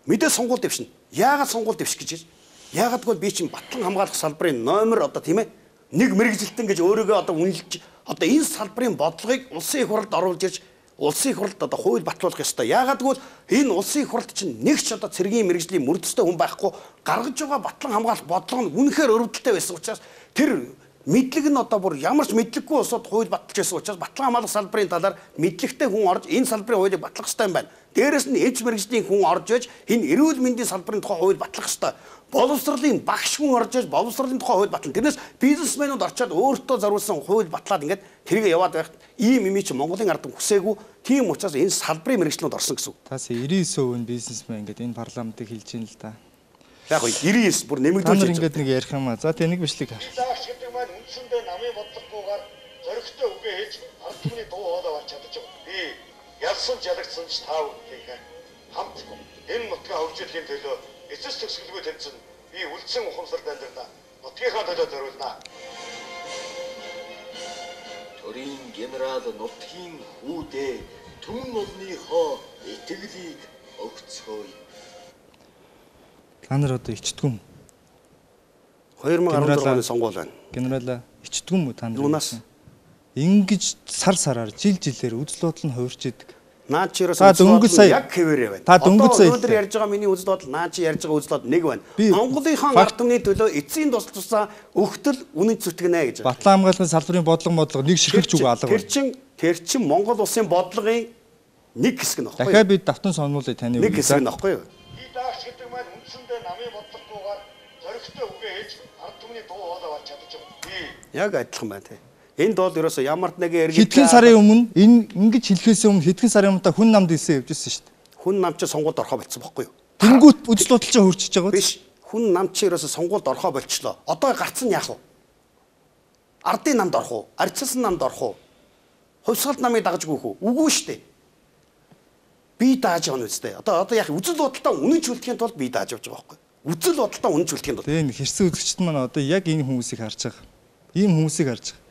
Мэдээ сонгуул дэвшнэ. Яагаад сонгуул дэвших гэж? Яагаад гэвэл би чинь батлан хамгаалах салбарын номер одоо тийм ээ нэг мэрэгжилтэн гэж өөрийгөө одоо үнэлж одоо энэ салбарын бодлогыг улсын их хурлд оруулж ирж улсын их хурлд одоо хууль батлуулах ёстой. Яагаад гэвэл энэ улсын их хурлд чинь нэг ч одоо цэргийн мэрэгжлийн мөрдөстэй хүн байхгүй гаргаж байгаа батлан хамгаалах бодлого нь үнэхээр өрөвдөлтэй байсан учраас тэр мэдлэг нь одоо бүр ямар ч мэдлэггүй улсууд хууль баталж байсан учраас батлан хамгаалах салбарын талаар мэдлэгтэй хүн орж энэ салбарын хуулийг батлах ёстой юм байна. Дээрээс нь эвч мэрэгжлийн хүн орж иж энэ эрүүл мэндийн салбарын тухай хууль батлах ёстой. Боловсролын багш хүн орж иж боловсролын тухай хууль батлана. Тэрнээс бизнесмэнүүд орчоод өөртөө зориулсан хууль батлаад ингээд тэрийг яваад байх ийм юм чи Монголын ард хүсээгүй. Тийм учраас энэ салбарын мэрэгчлүүд орсон гэсэн үг. Тас девяносто девять% нь бизнесмен ингээд энэ парламентыг хэлж ийн л да. Яг уу девяносто девять бүр нэмэгдүүлж Та нар байна. ингээд нэг ярих юм аа. За тэгээ нэг бичлэг хар. Лагч гэдэг маань үндсэндээ намын бодлогогүйгээр зөрөгтэй үгээ хийж ард түмний дуу хоолой болж чадаж байгаа. Би ялсан жалагдсан ч тав гэх хамт энэ нутгийн хөгжлийн төлөө эцэс төгсгөлгүй тэмцэн би үлдсэн ухамсарт амьдрна. Нутгийнхаа төлөө зориулна. Төрийн генерал нутгийн хүүдээ түмэн олныхоо итгэлийг өгцгөөе. Та нар одоо ичдгүм. хоёр мың арван зургааны сонгуул байна. Генерала ичдгүм үү та нар? Юунаас? Ингэж сар сараар жил жилээр үзэл бодол нь хувирч идэг. Наа чи Та дөнгөж сая- яг хэвээрээ байна. Та дөнгөж сая- өнөөдөр ярьж байгаа миний үзэл бодол наа чи ярьж байгаа үзэл бодол нэг байна. Би- Монголынхон факт- ард түмний төлөө эцсийн тус тусаа өгтөл үнэн зүтгэнэ гэж. Батлан хамгаалалтын салбарын бодлого модлого нэг ширхэлж үгүй алга Тэр байна. чин тэр чин Монгол улсын бодлогын нэг хэсэг нь баггүй. Дахиад би давтан сонуулъя таны Нэг үгийг. хэсэг нь баггүй юу? И лагч гэдэг маань үндсэндээ намын бодлогогүйгээр зөрөгтэй үгээ хийж ард түмний дуу хоолой болж чадаж байгаа. Би Яг адилхан байна тий. Энд бол ерөөсөө ямар ч нэгэн эргэлт Хэдхэн сарын өмнө энэ ингэж хэлэхээс өмнө хэдхэн сарын өмнө та хүн намд хэлсэн явжсэн шүү дээ. хүн нам чи сонгуульд орхоо болцсон баггүй юу? Тэнгүүт үзэл бодол чинь хурцж байгаа. Биш. Хүн нам чи ерөөсөө сонгуульд орхоо болчлоо. Одоо гарцсан яах вэ? Ардын намд орох уу? Арчилсан намд орох уу? Хувьсгалт намыг дагаж гүйх үү? Үгүй шүү дээ. Би дааж байгаа нь үстэй. Одоо одоо яах вэ? Үзэл бодолтой үнэн чөлдөхийн тулд би дааж явж байгаа байхгүй юу? Үзэл бодолтой үнэн чөлдөхийн тулд. Тэгээ энэ хэрсэн үзэгчд маань одоо яг энэ хүмүүсийг харж байгаа. Ийм хүмүүсийг харж байгаа.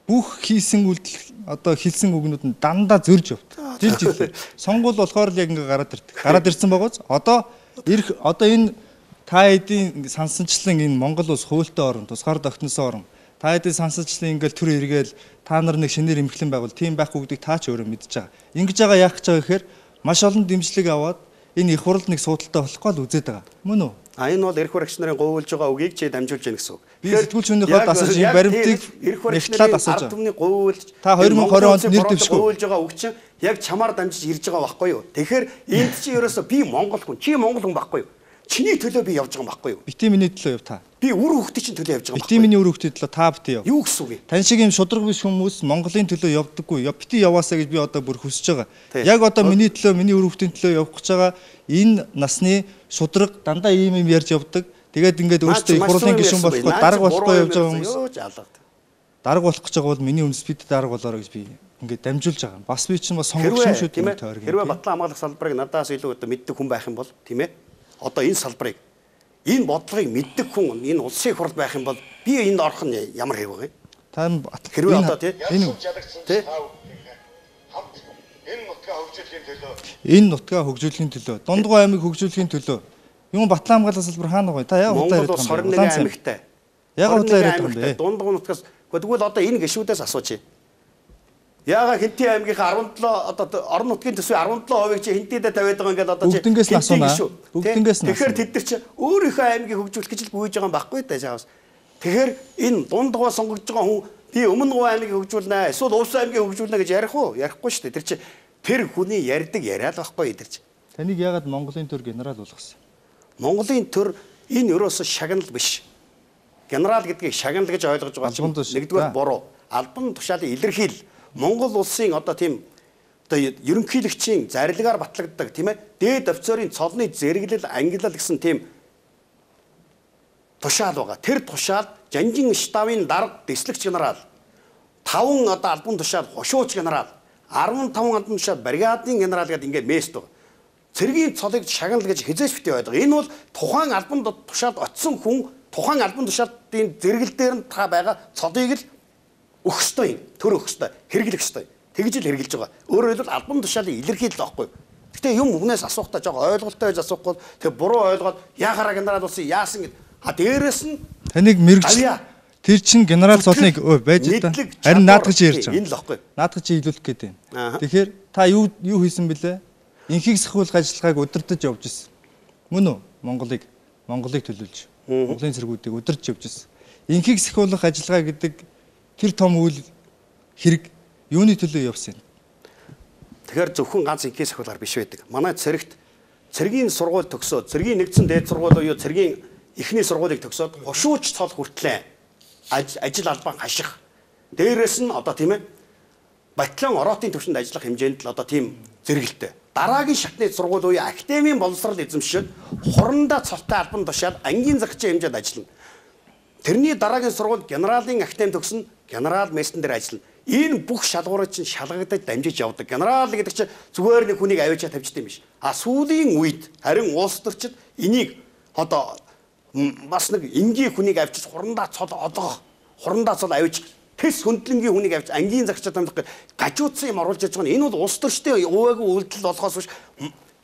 Бүх хийсэн үйлдэл одоо хэлсэн үгнүүд нь дандаа зөрж явт. Жил жилээр. Сонгуул болохоор л яг ингээ гараад ирдэг. Гараад ирсэн байгоц. Одоо ирэх одоо энэ та хэдийн сансанчлан энэ Монгол улс хуультай орн, тусгаар тогтносон орн. Та хэдийн сансанчлан ингээл төр эргээл та нар нэг шинээр эмхлэн байгуул тийм байх үгдийг та ч өөрөө мэдж байгаа. Ингэж байгаа яах гэж байгаа гэхээр маш олон дэмжлэг аваад энэ их хурлд нэг суудалтай болохгүй л үзээд байгаа. Мөн үү? А энэ бол эрх баригч нарын говьулж байгаа үгийг чи дамжуулж яах гэсэн үг. Би сэтгүүлч хүнийхээ дасаж энэ баримтыг нэгтлээ дасаж ард түмний говьулж Та хоёр мың и двадцать онд нэр дэвшгүй. говьулж байгаа үг чинь яг чамаар дамжиж ирж байгаа байхгүй юу? Тэгэхээр энд чи ерөөсөө би Монгол хүн, чи Монгол хүн байхгүй юу? Чиний төлөө би явж байгаа юм байхгүй юу? Бити миний төлөө яв та. Би үр хөвгтөд чинь төлөө явж байгаа юм Бити миний үр хөвгтөд төлөө та бити яв. Юу гэсэн үг юм? Тань шиг юм шудраг биш хүмүүс Монголын төлөө явдаггүй. Яв бити яваасаа гэж би одоо бүр хүсэж байгаа. Тий. Яг одоо миний төлөө, миний үр хөвгтийн төлөө явах гэж байгаа энэ насны шудраг дандаа ийм юм ярьж явдаг. Тэгээд ингээд өөртөө их хурлын гишүүн болохгүй дарга болохгүй явж байгаа хүмүүс. Юу ч алгад. Дарга болох гэж байгаа бол миний үндэс бид дарга болоорой гэж би ингээд дамжуулж байгаа. Бас би чинь бас сонгогч юм шүү Тийм дээ ээ. тойрог. Хэрвээ батлан хамгаалах салбарыг надаас илүү одоо мэддэг хүн байх юм бол тийм ээ. Одоо энэ салбарыг энэ бодлогыг мэддэг хүн энэ улсын хурд байх юм бол би энд орох нь ямар хэв вэ? Та Хэрвээ одоо тийм энэ жалагдсан Тий. ч тав гэх хамт энэ нутгийн хөгжлийн төлөө энэ нутгаа хөгжүүлэхийн төлөө, Дундгой аймаг хөгжүүлэхийн төлөө юм Батлан хамгаалах салбар хаана гоё? Та яг удлаа Монгол яриад улс байгаа юм хорин нэгэн бэ? аймагтай. Яг удлаа яриад байгаа юм бэ? Дундгой нутгаас тэгвэл одоо энэ гишүүдээс асуучих. Яага Хинтээ аймгийнхаа арван долоо одоо орон нутгийн төсвийн арван долоо хувийг чи хинтээдээ тавиад байгаа ингээд одоо чи Бүгднгээс нь асуунаа. Бүгднгээс нь Тэгэхээр асуунаа. тэд нар чи өөрийнхөө аймгийг хөгжүүлэх гэж л гүйж байгаа юм байхгүй даа чаавс. Тэгэхээр энэ Дундгой сонгогдож байгаа хүн би өмнө гоо аймгийг хөгжүүлнэ эсвэл Увс аймгийг хөгжүүлнэ гэж ярих уу? Ярихгүй шүү дээ. Тэр чи тэр хүний ярьдаг яриад байхгүй тэр чи. Таныг яагаад Монголын төр генерал болгосон? Монголын төр энэ ерөөсө шагнал биш. Генерал гэдгийг шагнал гэж ойлгож байгаа чинь Албан тушаал. нэгдүгээр буруу. Албан тушаалын илэрхийл Монгол улсын одоо тийм одоо ерөнхийлөгчийн зарилгаар батлагддаг тийм ээ дээд офицерын цолны зэрэглэл ангиллал гэсэн тийм тушаал байгаа. Тэр тушаал Жанжин штабын дарга дэслэгч генерал таван одоо албан тушаал хошууч генерал арван таван албан тушаал бригадын генерал гэдэг ингээд мест байгаа. Цэргийн цолыг шагнал гэж хизээч битээ байдаг. Энэ бол тухайн албан тушаалд очисон хүн тухайн албан тушаалтын зэрэгэл дээр нь та байгаа цолыг л өгөх ёстой юм. Төр өгөх ёстой. Хэрэглэх ёстой. Тэгж л хэрэгжилж байгаа. Өөрөөр хэлбэл албан тушаалын илэрхийлэл байхгүй. Гэтэ юм хүнээс асуухтаа жоо ойлголттой байж асуухгүй тэг буруу ойлгоод яхаараа генерал болсон яасан гэд. А дээрэс нь Таныг мэрэгч авьяа. тэр чин генерал цолныг өө байж та. Мэдлэг, Харин чадвар, наадах чи ярьж энэ л байгаа. баггүй. Наадах чи илүүлэх гээд байна. Ааха. Тэгэхээр та юу юу хийсэн бэлээ? Инхийг сахиулах ажиллагааг удирдах явж ирсэн. Мөн үү? Монголыг Монголыг төлөөлж. Монголын цэргүүдийг удирдах явж ирсэн. Инхийг сахиулах ажиллагаа гэдэг тэр том үйл хэрэг юуны төлөө явсан? Тэгэхээр зөвхөн ганц инхээс ахуулаар биш байдаг. Манай цэрэгт цэргийн сургууль төгсөөд цэргийн нэгдсэн дээд сургууль буюу цэргийн эхний сургуулийг төгсөөд хошууч цол хүртлээ ажил албан хаших. Дээрээс нь одоо тийм ээ Батлан ороотын төвшөнд ажиллах хэмжээнд л одоо тийм зэрэгэлтэй. дараагийн шатны сургууль буюу академийн боловсрол эзэмшиж хурандаа цолтой албан тушаал ангийн захирчийн хэмжээнд ажиллана. Тэрний дараагийн сургууль генералын академи төгснө, генерал мессен дээр ажиллана. Энэ бүх шалгуурыг чинь шалгагдаж дамжиж явдаг. Генерал гэдэг чинь зүгээр нэг хүнийг авчиа тавьчихдээ юм биш. А сүүлийн үед харин улс төрчид энийг одоо бас нэг энгийн хүнийг авчиж хурандаа цол одоох, хурандаа цол авчиж тэс хөндлөнгийн хүнийг авчиж ангийн захирчид тамдах гажуудсан юм оруулж яж байгаа. Энэ бол улс төрчтэй ууаагүй үйлдэл болохоос биш.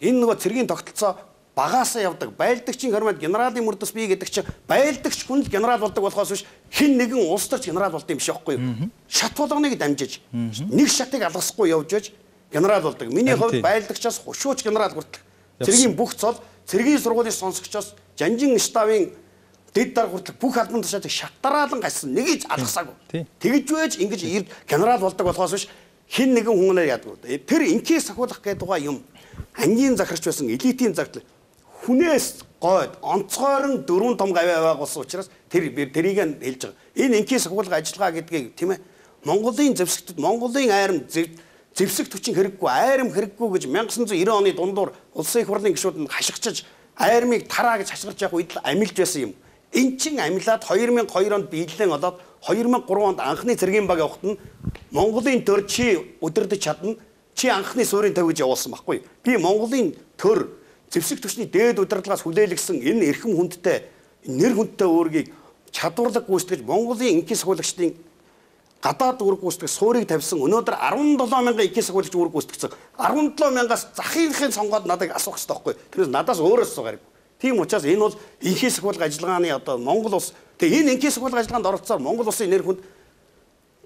Энэ нөгөө цэргийн тогтолцоо багаасаа явдаг. Байлдагчийн хормод генералын мөрдөс бий гэдэг чинь байлдагч хүн л генерал болдог болохоос биш хин нэгэн улс төрч генерал болдог юм шиг байхгүй юу? Шат болгоныг дамжиж нэг шатыг алгасахгүй явж яж генерал болдог. Миний хувьд байлдагчаас хушууч генерал хүртэл цэргийн бүх цол цэргийн сургуулийн сонсогчоос жанжин штабын дэд дар хүртэл бүх албан тушаалыг шатараалан гассан нэгийг алгасаагүй. Тэгж байж ингэж генерал болдог болохоос биш хин нэгэн хүнээр яддаг. Тэр инкээс сахиулах гэдэг байгаа юм. Ангийн захирч байсан элитийн загтал хүнээс гойд онцгойрон дөрвөн том гавь байгуулсан учраас тэр тэрийг нь хэлж байгаа. Энэ инкээс сахиулах ажиллагаа гэдгийг тийм ээ Монголын зэвсэгтүүд Монголын айрам зэвсэгт хүчин хэрэггүй айрам хэрэггүй гэж 천ix hundred ninety оны дундуур улсын их хурлын гишүүд нь хашгичиж айрмыг тараа гэж хашгирч явах үед амилж байсан юм. Эн чин амилаад two thousand two онд биелэн олоод two thousand three онд анхны цэргийн баг явахад нь Монголын төр чи өдөрдөж чадна. Чи анхны суурийн төв гэж явуулсан байхгүй. Би Монголын төр зэвсэг түвшний дээд удирдлагаас хүлээлгсэн энэ эрхэм хүндтэй нэр хүндтэй өөргийг чадварлаг гүйцэтгэж Монголын инкийн сахиулагчдын гадаад үүрэг гүйцэтгэх суурийг тавьсан. Өнөөдөр seventy-seven мянган инкийн сахиулагч үүрэг гүйцэтгэсэн. seventy-seven мянгаас захийнхын сонгоод надад асуух хэрэгтэй байхгүй. Тэрнээс надаас өөрөөс суугаарай. Тийм учраас энэ бол инкийн сахиулах ажиллагааны одоо Монгол улс тэгээ энэ инкийн сахиулах ажиллагаанд оролцсоор Монгол улсын нэр хүнд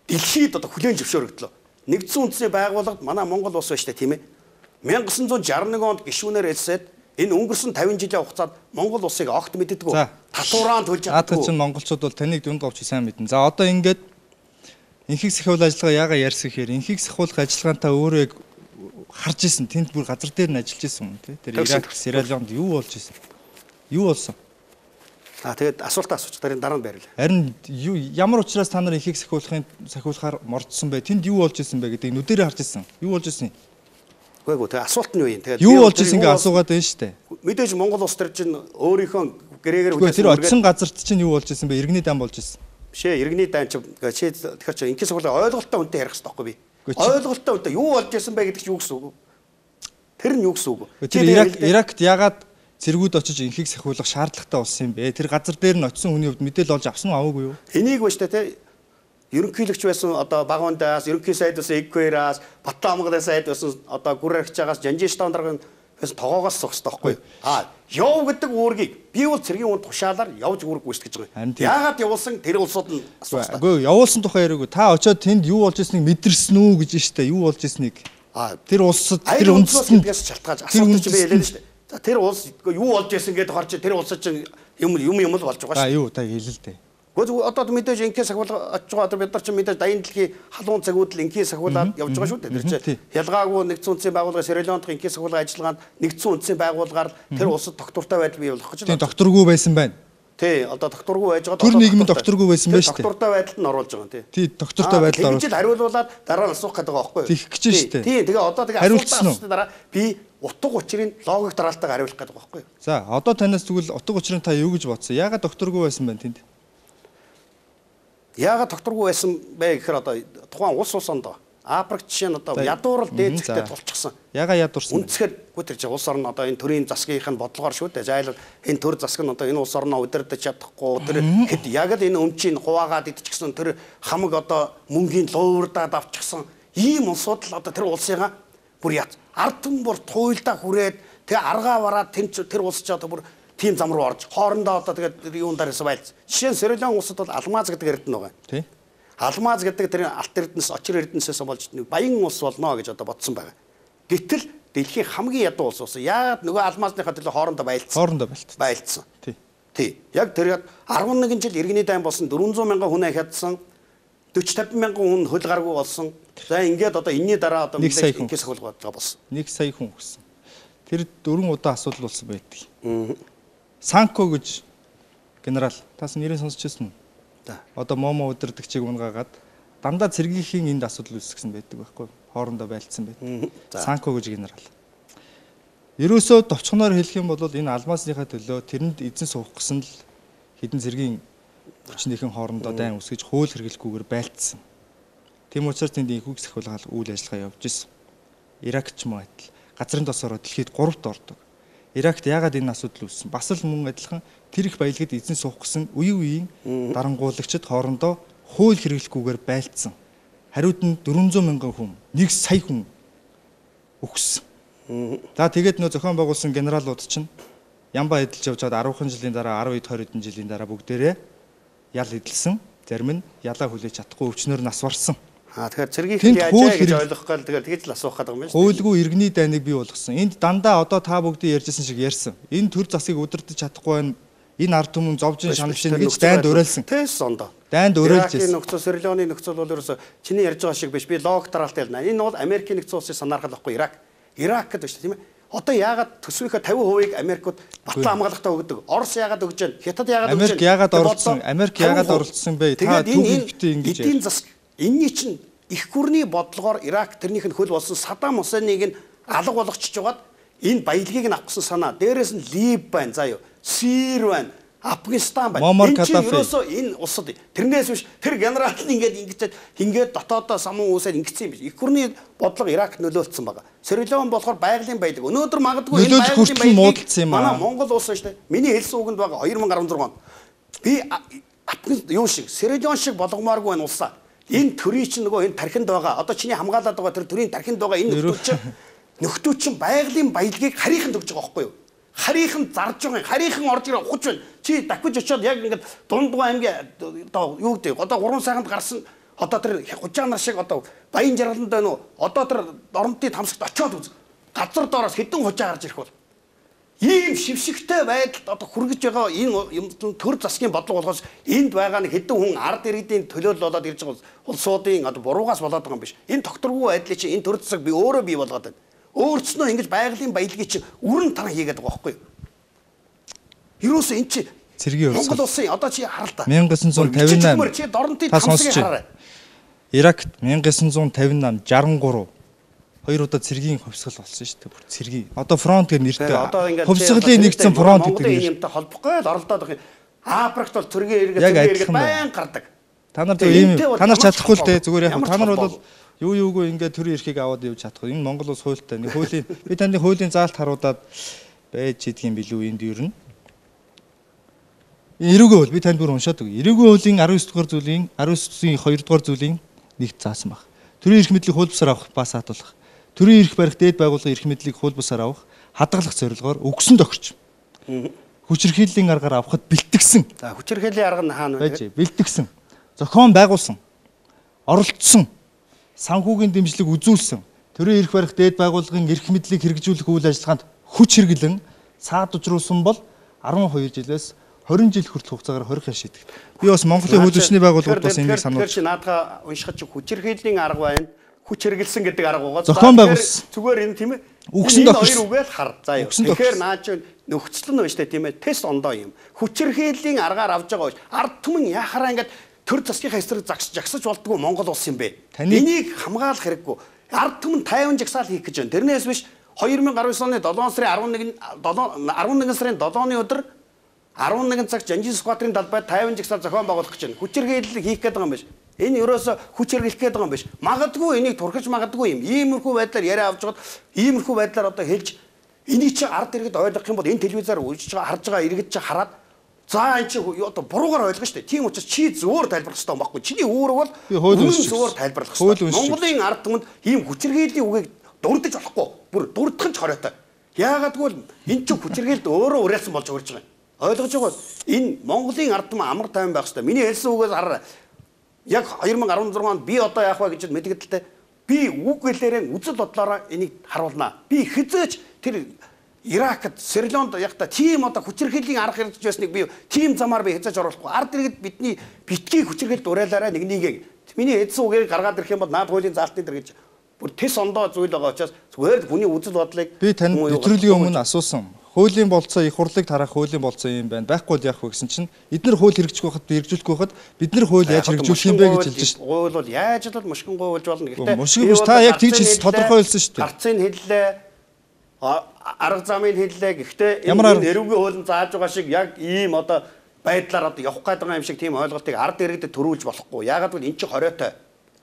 дэлхийд одоо хүлээн зөвшөөрөгдлөө. Нэгдсэн үндэсний байгууллагад манай Монгол улс байж та тийм ээ. nineteen sixty-one онд гишүүнээр элсээд энэ өнгөрсөн fifty жилийн хугацаанд Монгол улсыг огт мэддэггүй. Татвараа төлж чаддаггүй. Наад чинь монголчууд бол таныг дүнд говч сайн мэднэ. За одоо ингээд инхийг сахиулах ажиллагаа яага ярьсан гэхээр инхийг сахиулах ажиллагаантаа өөрөө харж исэн. Тэнд бүр газар дээр нь ажиллаж исэн тий. Тэр Ирак, Сьерра Леонд юу болж исэн? Юу болсон? Аа тэгээд асуултаа асууч дараа дараа нь байрлаа. Харин ямар учраас та нар инхийг сахиулахын сахиулахаар мордсон бэ? Тэнд юу болж исэн бэ гэдэг нүдэрээ харж исэн. Юу болж исэн? Үгүй ээ тэгээд асуулт нь юу юм? Тэгээд юу болж исэн ингээ асуугаад байна шүү дээ. Мэдээж Монгол улс төр чинь өөрийнхөө гэрээгээр хүлээсэн. Тэр очсон газарт чинь юу болж исэн бэ? Иргэний дан болж исэн. Бишээ иргэний дан чи чи тэгэхээр чи инкээс сахиулах ойлголттой үнтэй ярих хэрэгтэй байхгүй би. Ойлголттой үнтэй юу болж исэн бэ гэдэг чи юу гэсэн үг вэ? Тэр нь юу гэсэн үг вэ? Тэр Ирак Иракт ягаад цэргүүд очиж инхийг сахиулах шаардлагатай болсон юм бэ? Тэр газар дээр нь очисон хүний хувьд мэдээлэл олж авсан уу аваагүй юу? Энийг ба штэ те ерөнхийлөгч байсан одоо Багундаас, ерөнхий сайд байсан Эквераас, Батламгын сайд байсан одоо Гүрэрхчаагаас, Жанжинштан даргын байсан тогоогоос сох хэрэгтэй байхгүй. Аа, яв гэдэг үүргийг би бол цэргийн үнд тушаалаар явж үүрэг гүйцэтгэж байгаа. Яагаад явуулсан тэр улсууд нь асуусан. Үгүй явуулсан тухай яриаггүй. Та очиод тэнд юу болж ирснийг мэдэрсэн үү гэж штэ. Юу болж ирснийг. Аа, тэр улсад тэр үндэстэн шалтгааж асуудал чи би хэлээ штэ. За тэр улс юу болж ирсэн гэдээ харж тэр улсад чинь юм юм юм л болж байгаа шүү. Аа юу та хэлээ л дээ. Гэхдээ одоо мэдээж инкээс сахиулах очиж байгаа одоо бид нар чинь мэдээж дайны дэлхийн халуун цагууд л инкээс сахиулаад явж байгаа шүү дээ. Тэр чинь ялгаагүй нэгдсэн үндэсний байгууллага Сьерра Леонд инкээс сахиулах ажиллагаанд нэгдсэн үндэсний байгууллагаар тэр улсад доктортой байдал бий болох гэж байна. Тийм докторгүй байсан байна. Тий, одоо докторгүй байж байгаа. Тэр нийгэмд докторгүй байсан байж тээ. Доктортой байдалд нь оруулж байгаа тий. Тий, доктортой байдалд оруулж. Тэгж хариулуулаад дараа нь асуух гэдэг байгаа байхгүй юу? Тийх гэж шүү дээ. Тий, тэгээ одоо тэгээ асуултаа дараа би утга учирын логик дараалтайгаар хариулах гэдэг байгаа байхгүй юу? За, одоо танаас тэгвэл утга учирын та юу гэж бодсон? Яагаад докторгүй байсан бэ тэнд? Яагаад докторгүй байсан бэ гэхээр одоо тухайн улс улсонд Африк жишээ нь одоо ядуурл дээд зэгтээ тулчихсан. Яга ядуурсан. Үнэхээр гүтэрч улс орн одоо энэ төрийн засгийнх нь бодлогоор шүү дээ. Зайлшгүй энэ төр засаг нь одоо энэ улс орноо удирдах чадахгүй тэр хэд яг л энэ өмчийг хуваагаад идчихсэн тэр хамаг одоо мөнгөний луурдаад авчихсан ийм улсууд л одоо тэр улсыгаа бүр яц ард түмэн бүр туйлдаа хүрээд тэгээ аргаа бараад тэр тэр улс ч одоо бүр тийм зам руу орж хоорондоо одоо тэгээд юун дараас байлц. Жишээ нь Сьерра Леон улсад бол алмаз гэдэг эрдэнэ байгаа. Тий. Алмаз гэдэг тэр алт эрдэнэс очир эрдэнэсээс болж нэг баян улс болно гэж одоо бодсон байгаа. Гэтэл дэлхийн хамгийн ядуу улс болсон. Яагаад нөгөө алмазныхаа төлөө хоорондоо байлцсан. Хоорондоо байлцсан. Байлцсан. Тий. Тий. Яг тэр eleven жил иргэний дайн болсон four hundred мянган хүн хядсан. forty fifty мянган хүн хөл гаргүй болсон. За ингээд одоо энэний дараа одоо мэдээж инкээс хөлгөө болсон. Нэг сая хүн өгсөн. Тэр дөрвөн удаа асуудал болсон байдаг. Аа. Санко гэж генерал тас нэрийг сонсч байсан уу? Одоо момо удирдагчийг унгаагаад дандаа цэргийнхин энд асуудал үүсгэсэн байдаг байхгүй хоорондоо байлцсан байдаг. Санко гэж генерал. Ерөөсөө товчхоноор хэлэх юм бол энэ алмаасныхаа төлөө тэрэнд эзэн суух гэсэн л хэдэн зэргийн хүчнийхэн хоорондоо дайн үсгэж хууль хэрэглэхгүйгээр байлцсан. Тийм учраас тэнд их үгс ахуулгал үйл ажиллагаа явж исэн. Ирак ч мөн адил газрын тосороо дэлхийд гуравт ордог. Иракт яагаад энэ асуудал үүссэн? Бас л мөн адилхан тэр их баялагад эзэн суух гэсэн үе үеийн дарангуулагчид хоорондоо хууль хэрэглэхгүйгээр байлцсан. Хариуд нь дөрвөн зуун мянган хүн, нэг сая хүн өгсөн. За тэгээд нөө зохион байгуулсан генералууд чинь ямба эдэлж явж чад арван жилийн дараа десять двадцать хэдэн жилийн дараа бүгдээрээ ял эдэлсэн. Зарим нь ялаа хүлээж чадахгүй өвчнөр нас барсан. Аа тэгэхээр цэргийн яаж яаж ойлгох гал тэгээд тэгж л асуух гэдэг юм байна шүү. Хуулгүй иргэний дайныг бий болгосон. Энд дандаа одоо та бүгдийн ярьжсэн шиг ярьсан. Энэ төр засгийг удирдах чадахгүй байна. Энэ ард түмэн зовжин шаналж гэж дайнд уриалсан. Тэс ондоо. Дайнд уриалж ирсэн. Нөхцөл Сирилоны нөхцөл бол ерөөсө чиний ярьж байгаа шиг биш. Би лог дараалтай ялна. Энэ бол Америкийн нэгдсэн улсын санаархал байхгүй Ирак. Ирак гэдэг шүү дээ тийм ээ. Одоо яагаад төсвийнхээ фifty percent-ийг Америкууд батлан хамгаалалтаа өгдөг. Орос яагаад өгж байна? Хятад яагаад өгж байна? Америк яагаад оролцсон? Америк яагаад оролцсон бэ? Та түүхийгтэй ингэж эдийн засаг энэний чинь их гүрний бодлогоор Ирак тэрнийх нь хөл болсон Саддам Хусейныг нь алга болгочихж байгаад энэ баялагийг нь авах гэсэн санаа. Дээрээс нь Либ байна заа юу. Сир байна. Афганистан байна. Энэ чинь ерөөсөө энэ улсад тэрнээс биш тэр генерал нь ингэж ингэж ингээд дотоодоо самун үсээр ингэсэн юм биш. Их гүрний бодлого Иракт нөлөөлсөн байгаа. Сирилон болохоор байгалийн баялаг. Өнөөдөр магадгүй энэ байгалийн баялаг манай Монгол улс шүү дээ. Миний хэлсэн үгэнд байгаа two thousand sixteen онд би Афганистан юу шиг Сирилон шиг болгомооргүй байна улсаа. Энэ төрийн чинь нөгөө энэ тархинд байгаа. Одоо чиний хамгаалаад байгаа тэр төрийн тархинд байгаа энэ нөхдүүд чинь нөхдүүд чинь байгалийн баялагийг харийнхан төгж байгаа байхгүй юу? Харийнхан зарж байгаа. Харийнхан орж ирээ ухаж байна. Чи давхиж очиод яг ингээд Дундгой аймгийн одоо юу гэдэг одоо гурван сайханд гарсан одоо тэр хужаа нар шиг одоо баян жаргаланд байна уу? Одоо тэр оронтын тамсагт очиод үз. Газар доороос хэдэн хужаа гарч ирэх бол ийм шившигтэй байдалд одоо хүргэж байгаа энэ юм төр засгийн бодлого болохоос энд байгаа нэг хэдэн хүн ард иргэдийн төлөөлөл болоод ирж байгаа улсуудын одоо буруугаас болоод байгаа юм биш. Энэ тогтворгүй байдлыг чи энэ төр засаг би өөрөө бий болгоод байна. Өөрснөө ингэж байгалийн баялагийг чи үрэн таран хийгээд байгаа байхгүй юу? Юусе эн чи цэргийн улс. Монгол улсын одоо чи харал та. nineteen fifty-eight чи дорнотын тамсгийг хараарай. Иракт nineteen fifty-eight sixty-three хоёр удаа цэргийн хувьсгал болсон шүү дээ. Бүр цэргийн. Одоо фронт гэх нэртэй. Хувьсгалын нэгдсэн фронт гэдэг юм. Юмтай холбохгүй л оролдоод байгаа. Африкт бол цэргийн эргээд цэргийн эргээд байн гардаг. Та нар тийм та нар чадахгүй л дээ. Зүгээр яг та нар бол юу юугүй ингээд төрийн эрхийг аваад явж чадахгүй. Энэ Монгол улс хуультай. Нэг хуулийн би таны хуулийн заалт харуудаад байж идэх юм билүү энд юу юм. Эрүүгийн хууль би танд бүр уншаад өгье. Эрүүгийн хуулийн nineteen дугаар зүйлийн nineteen two дугаар зүйлийн нэгт заасан баг. Төрийн эрх мэдлийг хууль бусаар авах ба саатуулах. Төрийн эрх барих дээд байгууллагын эрх мэдлийг хууль бусаар авах, хадгалах зорилгоор өгсөн тохирч. Хүчирхийллийн аргаар авахд бэлтгэсэн. За хүчирхийллийн арга нь хаана вэ? Бэлтгэсэн. Зохион байгуулсан. Оролцсон. Санхүүгийн дэмжлэг үзүүлсэн. Төрийн эрх барих дээд байгууллагын эрх мэдлийг хэрэгжүүлэх үйл ажиллагаанд хүч хэрэглэн саадужруулсан бол twelve жилээс twenty жил хүртэл хугацаагаар хорих шийдэгд. Би бас Монголын хууль зүйчний байгууллагууд бас энийг сануулж. Тэгэхээр чи наадгаа уншихад чи хүчирхийллийн арга байна. Хүч хэрэгэлсэн гэдэг арга байгаа. Зохион байгуулсан. Зүгээр энэ тийм ээ. Үгсэн тохирсон. Хоёр үгээл хар. За юу. Тэгэхээр наач нөхцөл нь байна штэ тийм ээ. Тест ондоо юм. Хүчирхийллийн аргаар авж байгаа биш. Ард түмэн яхараа ингээд төр засгийнхаа эсрэг жагсаж болдгоо Монгол улс юм бэ. Энийг хамгаалах хэрэггүй. Ард түмэн тайван жагсаал хийх гэж байна. Тэрнээс биш twenty nineteen оны seven сарын eleven сарын seven-ны өдөр eleven цаг Жанжин сквадрын талбайд тайван жагсаал зохион байгуулах гэж байна. Хүчирхийлэл хийх гэдэг юм биш. Энэ ерөөсө хүч хэрэглэх гэдэг юм биш. Магадгүй энийг турхиж магадгүй юм. Иймэрхүү байдлаар яриа авч жагаад иймэрхүү байдлаар одоо хэлж энийг чи ард иргэд ойлгох юм бол энэ телевизээр үзэж байгаа харж байгаа иргэд чи хараад за энэ чи одоо буруугаар ойлгох шүү дээ. Тийм учраас чи зөвөр тайлбарлах хэрэгтэй юм баггүй. Чиний үүрэг бол үнэн зөвөр тайлбарлах хэрэгтэй. Монголын ард түмэнд ийм хүчирхийллийн үгийг дурдж болохгүй. Бүр дурдах нь ч хоройтой. Яагадгүй л энэ чи хүчирхийлэлд өөрөө уриалсан болж өгч байгаа юм. Ойлгож байгаа. Энэ Монголын ард түмэн амар тайван байх хэрэгтэй. Миний хэлсэн үгээс хараа. Яг twenty sixteen онд би одоо яах вэ гэж мэдгэдэлтэй би үг гэлээрээ үзэл бодлороо энийг харуулнаа. Би хизээч тэр Иракт, Сирилонд яг та тийм одоо хүчирхийллийн арга хэрэгжиж байсныг би тийм замаар би хязгаарч оруулахгүй. Ард иргэд бидний битгий хүчирхийлэлд уриалаарай нэг нэгийг. Миний эдсэн үгээр гаргаад ирэх юм бол наад хуулийн заалтын дээр гэж бүр тэс ондоо зүйл байгаа учраас зүгээр хүний үзэл бодлыг би танд нэвтрүүлгийн өмнө асуусан. Хуулийн болцоо их хурлыг тарах хуулийн болцоо юм байна. Байхгүй л яах вэ гэсэн чинь эдгээр хууль хэрэгжих байхад хэрэгжүүлэх байхад бид нар хууль яаж хэрэгжүүлэх юм бэ гэж хэлж шээ. Хууль бол яаж л мушгин гуйлж болно. Гэхдээ мушгин биш та яг тийч тодорхой хэлсэн шүү дээ. Гарцыг хэллээ. арга замыг хэллээ. Гэхдээ Ямар энэ эрүүгийн хуулийн зааж байгаа шиг яг ийм одоо байдлаар одоо явах гэдэг юм шиг тийм ойлголтыг ард иргэдэд төрүүлж болохгүй. Яагаад гэвэл эн чинь хориотой.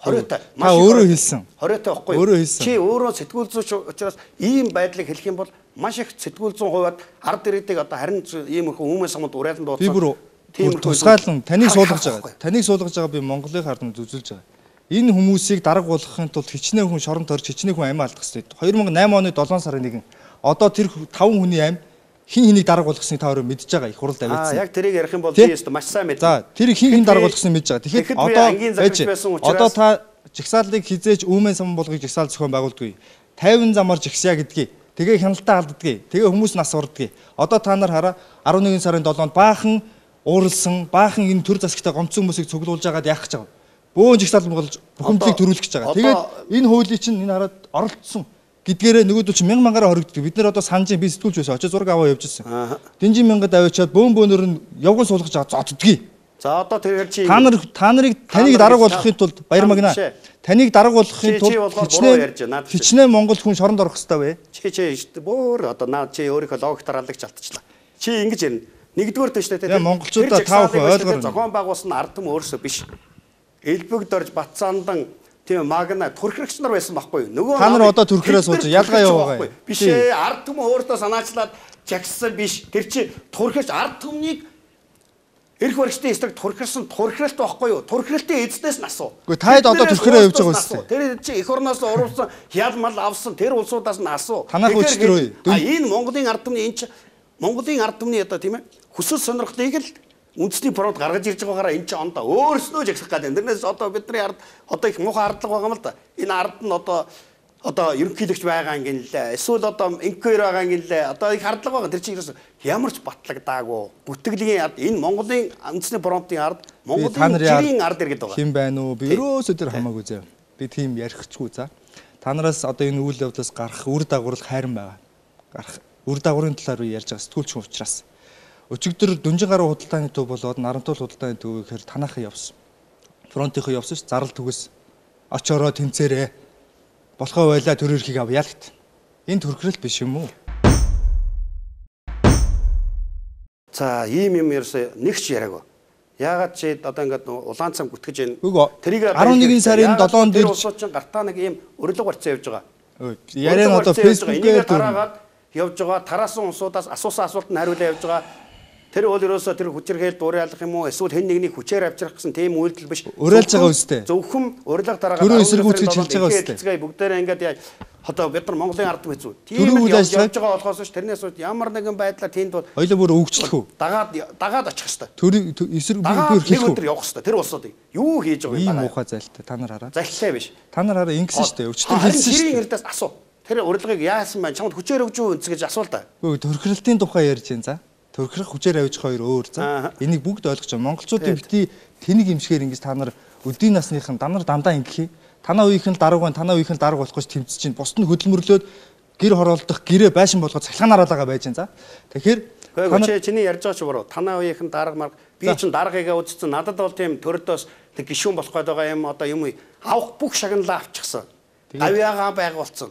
Хориотой. Та өөрөө хэлсэн. Хориотой байхгүй. Өөрөө хэлсэн. Чи өөрөө сэтгүүл зүйч учраас ийм байдлыг хэлэх юм бол маш их сэтгүүл зүйн хувьд ард иргэдийг одоо харин ийм их хүмүүс самд уриалан дуудсан. Би бүр тусгаалan таныг суулгаж байгаа. Таныг суулгаж байгаа би Монголын харданд үзүүлж байгаа. Энэ хүмүүсийг дарга болгохын тулд хичнээн хүн шоронд орж хичнээн хүн амиа алдах хэрэгтэй. две тысячи восемь оны долоон сарын нэгэн одоо тэр таван хүний амь хин хэнийг дарга болгосныг та өөрөө мэдж байгаа их хуралд авчихсан. Аа яг тэрийг ярих юм бол би өөртөө маш сайн мэднэ. За тэр хин хин дарга болгосныг мэдж байгаа. Тэгэхээр одоо одоо та жигсаалыг хизээж Өвмэн сан болгыг жигсаал зохион байгуулдаггүй. тайван замаар жигсаа гэдгийг тэгээ хяналтаа алддгийг. Тэгээ хүмүүс нас урддгийг. Одоо та нар хараа арван нэгэн сарын долоонд баахан ууралсан, баахан энэ төр засагтай гомцсон хүмүүсийг цуглуулж байгаад яах гэж байгаа. Бөөн жигсаал болж бухимдлыг төрүүлэх гэж байгаа. Тэгээд энэ хуулийн чинь энэ хараад оролцсон гэдгээрээ нөгөөдөл чинь мянган мянгаар хоригддаг. Бид нэр одоо санаж би сэтгүүлч байсан. Очиж зураг аваа явж ирсэн. Динжин мянгад аваачаад бөөн бөөнөр нь явган суулгаж байгаа зоддгийг. За одоо тэр чи та нар та нарыг таныг дарга болгохын тулд баяр магна. Таныг дарга болгохын тулд хичнээн хичнээн Монгол хүн шоронд орох хэрэгтэй вэ? Чи чи бөөр одоо наа чи өөрийнхөө логиктор алгаж алдчихлаа. Чи ингэж ярина. Нэгдүгээр төштэй тийм монголчуудаа тав хүн ойлгоор зохион байгуулсан ард түмэн өөрсдөө биш. Элбэг дорж Батцаандан тийм магна төрхрэгч нар байсан байхгүй юу? Нөгөө та нар одоо төрхрээ сууж ялгаа яваа. Биш ээ ард түмэн өөртөө санаачлаад жагссан биш. Тэр чи төрхрэгч ард түмнийг эрх баригчдын эсрэг турхирсан турхиралт байхгүй юу? Турхиралтын эзнээс нь асуу. Гэхдээ таад одоо турхираа явж байгаа үстэй. Тэр чи эх орноос урвсан ял мал авсан тэр улсуудаас нь асуу. Танах өчтөр үе. А энэ Монголын ард түмний энэ чи Монголын ард түмний одоо тийм ээ хүсэл сонирхлыг л үндэсний фронт гаргаж ирж байгаагаараа энэ ч ондоо өөрснөө жагсах гэдэг. Тэрнээс одоо бидний ард одоо их муухай ардлага байгаа юм л да. Энэ ард нь одоо одоо ерөнхийлөгч байгаа юм гинлээ. Эсвэл одоо инквер байгаа юм гинлээ. Одоо их ардлага байгаа. Тэр чинь ямар ч батлагдаагүй. Бүтгэлийн ард энэ Монголын үндэсний фронтын ард Монголын жирийн ард иргэд байгаа. Хэн байна уу? Би өрөөсөө тэр хамаагүй зав. Би тийм ярихгүй за. Та нараас одоо энэ үйл явдлаас гарах үр дагавар хайран байгаа. Гарах үр дагаврын талаар би ярьж байгаа сэтгүүлч хүн учраас. Өчигдөр Дүнжин гаруй худалдааны төв болоод Нарантуул худалдааны төв гэхээр танахаа явсан. Фронтынхоо явсан ш зарал түгэс очороо тэнцээрээ болохоо байла төр өрхийг авъя л гэт. Энэ төрхрөл биш юм уу? За ийм юм ерөөсөө нэг ч яриаг. Яагаад чи одоо ингээд улаан цам гүтгэж байна. Тэрийг арван нэгэн сарын долоонд дэр улсууд чинь гартаа нэг ийм урилга барьцсан явж байгаа. Яриан одоо фэйсбүүкээр тараагаад явж байгаа. Тараасан улсуудаас асуусан асуултанд хариулаа явж байгаа. Тэр бол ерөөсөө тэр хүчирхээлд уриалах юм уу эсвэл хэн нэгнийг хүчээр авчрах гэсэн тийм үйлдэл биш. Уриалж байгаа үстэй. Зөвхөн урилга дараагаад төрөө эсэргүүцгэж хэлж байгаа үстэй. Бүгдээрээ ингээд одоо бид нар Монголын ард түмэн зү. Тийм явж байгаа болохоос ш тэрнээс ямар нэгэн байдлаар тэнд бол хоёлоо бүр өвгчлөх үү? Дагаад дагаад очих хэвээр. Төр эсэргүүцгээр хэлэх үү? Тэр явах хэвээр. Тэр улсуудыг юу хийж байгаа юм? Ийм муухай зайлтай та нар хараа. Зайлтай биш. Та нар хараа ингэсэн шүү дээ. Өчтөр хэлсэн шүү. Тэрийн эрдээс асуу. Тэр урилгыг яасан байна? Чамд хүчээр өгч үү гэж асуул та. Үгүй төрхрөлтийн тухай ярьж байна за. Төрхрөх хүчээр авиж хоёр өөр за. Энийг бүгд ойлгож байгаа. Монголчуудын бити тэнийг имшгээр ингэж та нар өдийн насныхан та нар дандаа ингэхий. Танаа үеийнхэн л дарга байна, танаа үеийнхэн л дарга болох гэж тэмцэж чинь. Бусд нь хөдөлмөрлөөд гэр хороолдох, гэрээ байшин болгоод цахилгаанаар байгаа байж байна за. Тэгэхээр та чиний ярьж байгаа ч буруу. Танаа үеийнхэн дарга марга би чинь даргыгаа үзсэн. Надад бол тийм төрдөөс тэг гişүүн болох гээд байгаа юм одоо юм авах бүх шагналаа авчихсан. Авьяагаа байгуулсан.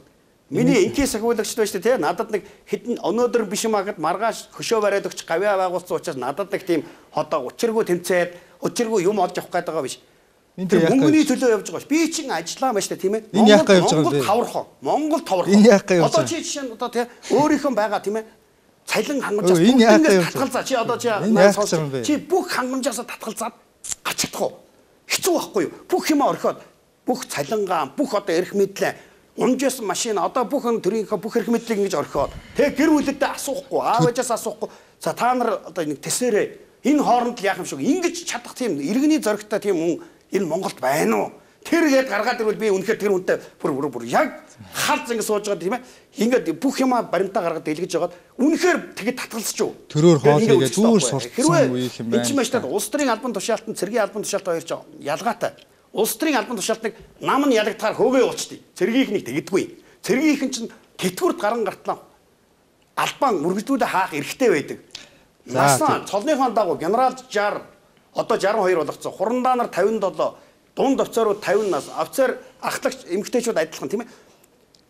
Миний инкий сахиулагч байж тээ надад нэг хэдэн өнөөдөр биш юм агад маргааш хөшөө бариад өгч гавьяа байгуулсан учраас надад нэг тийм одоо учиргүй тэмцээд учиргүй юм олж авах гээд байгаа биш. Тэр мөнгөний төлөө явж байгаа ш. Би чинь ажиллаа маш та тийм ээ. Монгол таврах. Монгол таврах. Одоо чи жишээ нь одоо тий өөрийнхөө байгаа тийм ээ. Цалин хангамжаас бүгд татгалзаа. Чи одоо чи чи бүх хангамжаас татгалзаад гацчих уу? Хэцүү байхгүй юу? Бүх юм орхиод бүх цалингаа бүх одоо эрх мэдлээ унжсэн машин одоо бүх төрийнхөө бүх эрх мэдлийг ингэж орхиод тэг гэр бүлэдээ асуухгүй аав ээжээс асуухгүй за та нар одоо нэг тэсэрээ энэ хооронд л яах юм шиг ингэж чадах тийм иргэний зоригтой тийм хүн энэ Монголд байна уу тэр гээд гаргаад ирвэл би үнэхээр тэр хүнтэй бүр бүр бүр яг халз ингэ сууж байгаа тийм ээ ингээд бүх юма баримтаа гаргаад дэлгэж жагаад үнэхээр тэгээд татгалзч юу төрөөр хоол хийгээд зүгээр сурцсан үеийнх юм байна энэ ч маш та улс төрийн албан тушаалтан цэргийн албан тушаалт хоёр ч ялгаатай. Улс төрийн албан тушаалтыг нам нь ялагдахаар хөөгөө уучдээ. Цэргийнх нь тэгдэггүй. Цэргийнх нь чинь тэтгэврт гарan гартлаа. Албан мөргөжлүүлээ хаах эрхтэй байдаг. Насаа цолныхон дагуу генерал шестьдесят одоо шестьдесят и deux болгоцсон. Хурандаа нар фifty seven, дунд офицерууд fifty нас, офицер ахлагч эмэгтэйчүүд адилхан тийм ээ.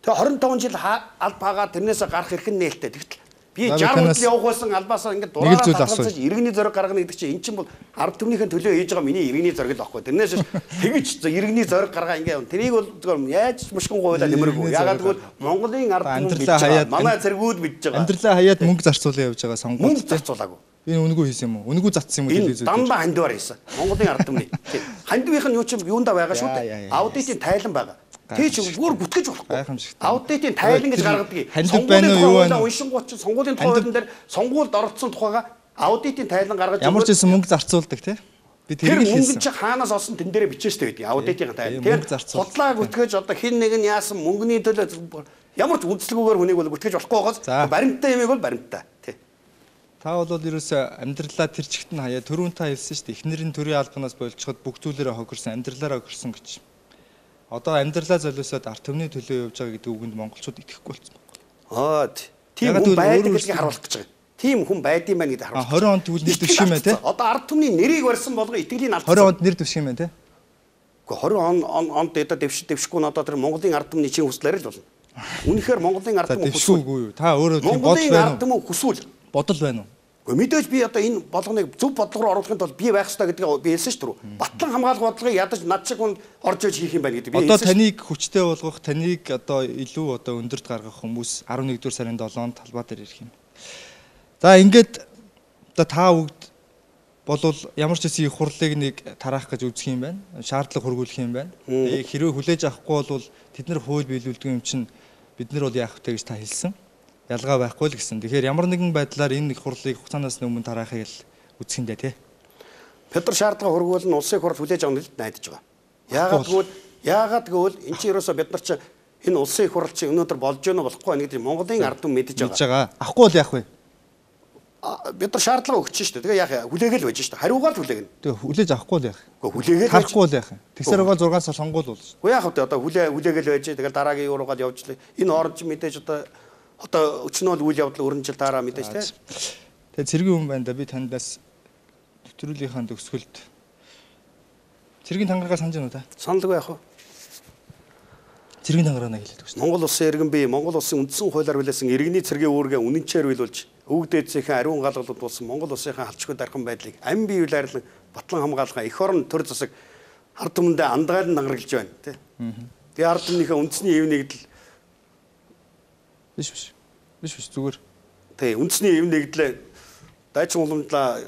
Тэгээ хорин таван жил албагаа тэрнээс гарах эрх нь нээлттэй. Тэгтэл би За, би жаргал танаас явах байсан албаасаа ингээд нэг л зүйл дураараа асууя. татгалзаж иргэний зориг гаргана гэдэг чинь эн чинь бол ард түмнийхэн төлөө хийж байгаа миний иргэний зориг л байхгүй. Тэрнээс тэгж иргэний зориг гаргаа ингээд явна. Тэрийг бол зөвхөн яаж мушгин гуйлаа нэмэргүй. Ягаад гэвэл Монголын ард түмэн Амьдралаа мэдж хаяад- байгаа. Манай цэргүүд мэдж байгаа. Амьдралаа хаяад мөнгө зарцуулаа явж байгаа сонгуульд. Мөнгө зарцуулаагүй. Би үнэгүй хийсэн юм уу? Үнэгүй цацсан юм уу? Энэ дандаа хандвар хийсэн. Монголын ард түмний. Хандвийнх нь юу ч юм юундаа байгаа шүү Яа, яа, дээ. яа. Аудитын тайлан байгаа. Тэг чи бүр бүтгэж болохгүй. Гайхамшигтай. Аудитын тайлан гэж гаргадаг. Хандив байна уу, юу байна уу? Уншингууд чинь сонгуулийн тухай Хандив- хуулийн дээр сонгуульд оролцсон тухайга аудитын тайлан гаргаж Ямар ч байсан мөнгө зарцуулдаг тий. Би тэр тэрийг л мөнгө хийсэн. чи хаанаас олсон тэн дээрээ бичээстэй байдаг аудитын тайлан. мөнгө Тэр зарцуул. худлаа гүтгэж одоо хин нэг нь яасан мөнгөний төлөө ямар ч үндслэгүүгээр хүнийг бол гүтгэж болохгүй За. гоос баримттай юмыг бол баримттай тий. Та бол ерөөсөө амьдралаа тэр чигт нь хаяа түрүүн та хэлсэн шүү дээ. Эхнэрийн төрийн албанаас болчиход бүх зүйлээрээ хохирсон, амьдралаараа хохирсон гэж. Одоо амьдралаа золиосоод ард түмний төлөө явж байгаа гэдэг үгэнд монголчууд итгэхгүй болсон байна. Аа тийм Ягаад хүн гэвэл байдаг өөрөө гэдгийг харуулах гэж байгаа. Тийм хүн байдсан байна гэдгийг А харуулах. хорин онд тэгвэл нэр дэвших юм байна те. Одоо ард түмний нэрийг барьсан болго итгэлийн алдсан. хорин онд нэр дэвших юм байна те. Гэхдээ хорин он он- онд дэдэ дэвш дэвшгүй нь одоо тэр Монголын ард түмний чинь хүслээр л болно. Үнэхээр Монголын ард За түмэн хүсвэл. дэвшгүй юу? Та өөрөө тийм бодол Монголын байна ард уу? түмэн хүсвэл. Бодол байна уу? Гэхдээ мэдээж би одоо энэ болгоныг зөв бодлого руу оруулахын тулд би байх ёстой гэдгийг би хэлсэн шүү дээ. Батлан хамгаалах бодлогыг ядаж над шиг хүнд орж иж хийх юм байна гэдэг би Одоо хэлсэн шүү. таныг хүчтэй болгох, таныг одоо илүү одоо өндөрт гаргах хүмүүс арван нэгдүгээр сарын долоонд талбай дээр ирэх юм. За ингээд одоо та бүгд болвол ямар ч хэсэг их хурлыг нэг тараах гэж үзэх юм байна. Шаардлага хургуулах юм байна. Тэгээ хэрвээ хүлээж авахгүй бол тэд нар хууль биелүүлдэг юм чинь бид нар бол яах вэ гэж та хэлсэн. Ялгаа байхгүй л гэсэн. Тэгэхээр ямар нэгэн байдлаар энэ их хурлыг хугацаанаас өмнө тараахыг л үзэх юм даа тий. Петр шаардлага хургуул нь улсын хурл хүлээж авах нь найдаж байгаа. Яагаад гэвэл яагаад гэвэл эн чинь ерөөсө бид нар чинь энэ улсын их хурл чинь өнөөдөр болж гэнэ болохгүй байна гэдэг Монголын ард түмэн мэдэж Мэдж байгаа. байгаа. Авахгүй бол яах вэ? А, бид нар шаардлага өгч шүү дээ. Тэгээ яах вэ? Хүлээгээл байж шүү дээ. Хариугаар л хүлээгнэ. Тэгээ хүлээж авахгүй бол яах вэ? Гэхдээ хүлээгээл байж. Харахгүй бол яах вэ? Тэгсэр байгаа зургаан сар сонгуул бол. Уу яах вэ? Одоо хүлээ хүлээгээл байж. Тэгэл дараагийн юу руугаад явж лээ. Энэ орж мэдээж одоо одоо өчнөө л үйл явдал өрн жил дараа мэдээж тий. Тэгээ цэргийн хүн байна да би таньдаас нэвтрүүлгийнхаа төгсгөлд цэргийн тангараа санаж байна уу та? Саналгүй яах вэ? Цэргийн тангараанаа хэлээд өгсөн. Монгол улсын иргэн бие Монгол улсын үндсэн хуулиар хүлээсэн иргэний цэргийн үүргээ үнэнчээр биелүүлж өвөг дээдсийнхээ ариун галгалууд болсон Монгол улсынхаа халчгүй дархан байдлыг амь бие үйлэрлэн батлан хамгаалахаа эх орон төр засаг ард түмэндээ андгаал нангаглаж байна тий. Тэгээ ард түмнийхээ үндэсний эв нэгдэл Биш биш. Биш биш зүгээр. тий үндэсний эв нэгдлээ дайчин уламжлаа.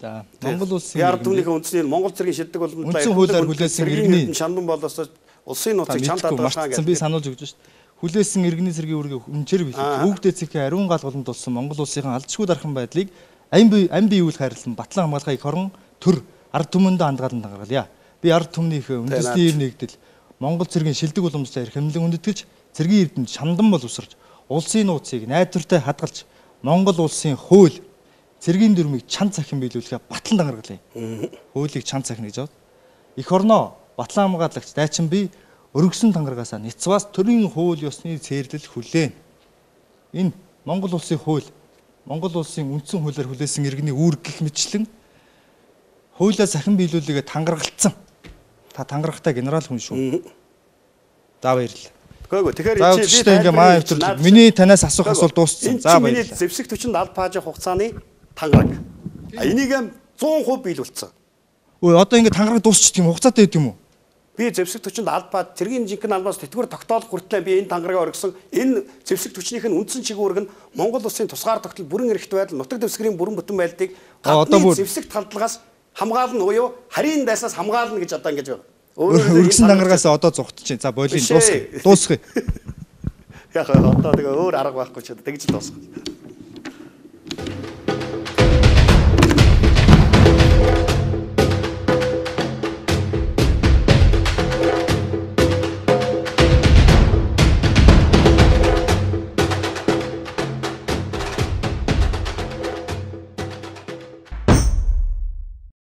За Монгол улсын ард түмнийхээ үндэсний Монгол цэргийн шилдэг уламжлаа Үндсэн хуулиар хүлээсэн иргэний шандан болоосоо улсын нууцыг чамд хадгалсан хадгалсан би сануулж өгч шүү дээ. Хүлээсэн иргэний цэргийн үүргээ үнчээр билээ. Өвөг дээдсийнхээ ариун галгаланд болсон Монгол улсынхаа алдшгүй дархан байдлыг амь бие амь бие үйл хайрлан батлан хамгаалахыг их орон төр ард түмэндээ андгаалan тангаргалъя. Би ард түмнийхээ үндэсний эв нэгдэл Монгол цэргийн шилдэг уламжлалаа эрх хэмлэн үндэтгэж цэргийн эрдэнэд шамдан бол усарч улсын нууцыг найдвартай хадгалж Монгол улсын хууль цэргийн дүрмийг чанд цахин биелүүлэхээ батлан тангаргалъя. Хуулийг чанд цахин гэж аваад эх орноо батлан хамгаалагч дайчин би өргөсөн тангаргаасаа Ницвас төрийн хууль ёсны цээрлэл хүлээн. Энэ Монгол улсын хууль, Монгол улсын үндсэн хуулиар хүлээсэн иргэний үүрэг гэх мэтчлэн хуулиа сахин биелүүлээгээ тангаргалцсан. Та тангарахтай генерал хүн шүү. За баярлалаа. Гэхдээ тэгэхээр За өчтөө ингээ маа өвтөр миний танаас асуух асуулт дууссан. За миний баярлалаа. зэвсэг төчөнд аль паажих хугацааны тангараг. А энийг сто процент биелүүлсэн. Өө одоо ингээ тангараг дуусчих юм хугацаатай байд юм уу? Би зэвсэг төчөнд аль паад цэргийн жинхэнэ албаас тэтгэвэр тогтоолох хүртлээр би энэ тангарагаа өргөсөн. Энэ зэвсэг төчнийх нь үндсэн чиглэл үүрэг нь Монгол улсын тусгаар тогтол бүрэн эрхт байдал, нутаг дэвсгэрийн бүрэн бүтэн байдлыг гадны зэвсэг талдлагаас хамгаална буюу харийн дайсаас хамгаална гэж одоо ингэж байгаа. Өргөсөн тангарагаас одоо зугтчих. За болын дуусгая. Дуусгая. Яг одоо тэгээ өөр арга байхгүй ч тэгж л дуусгах.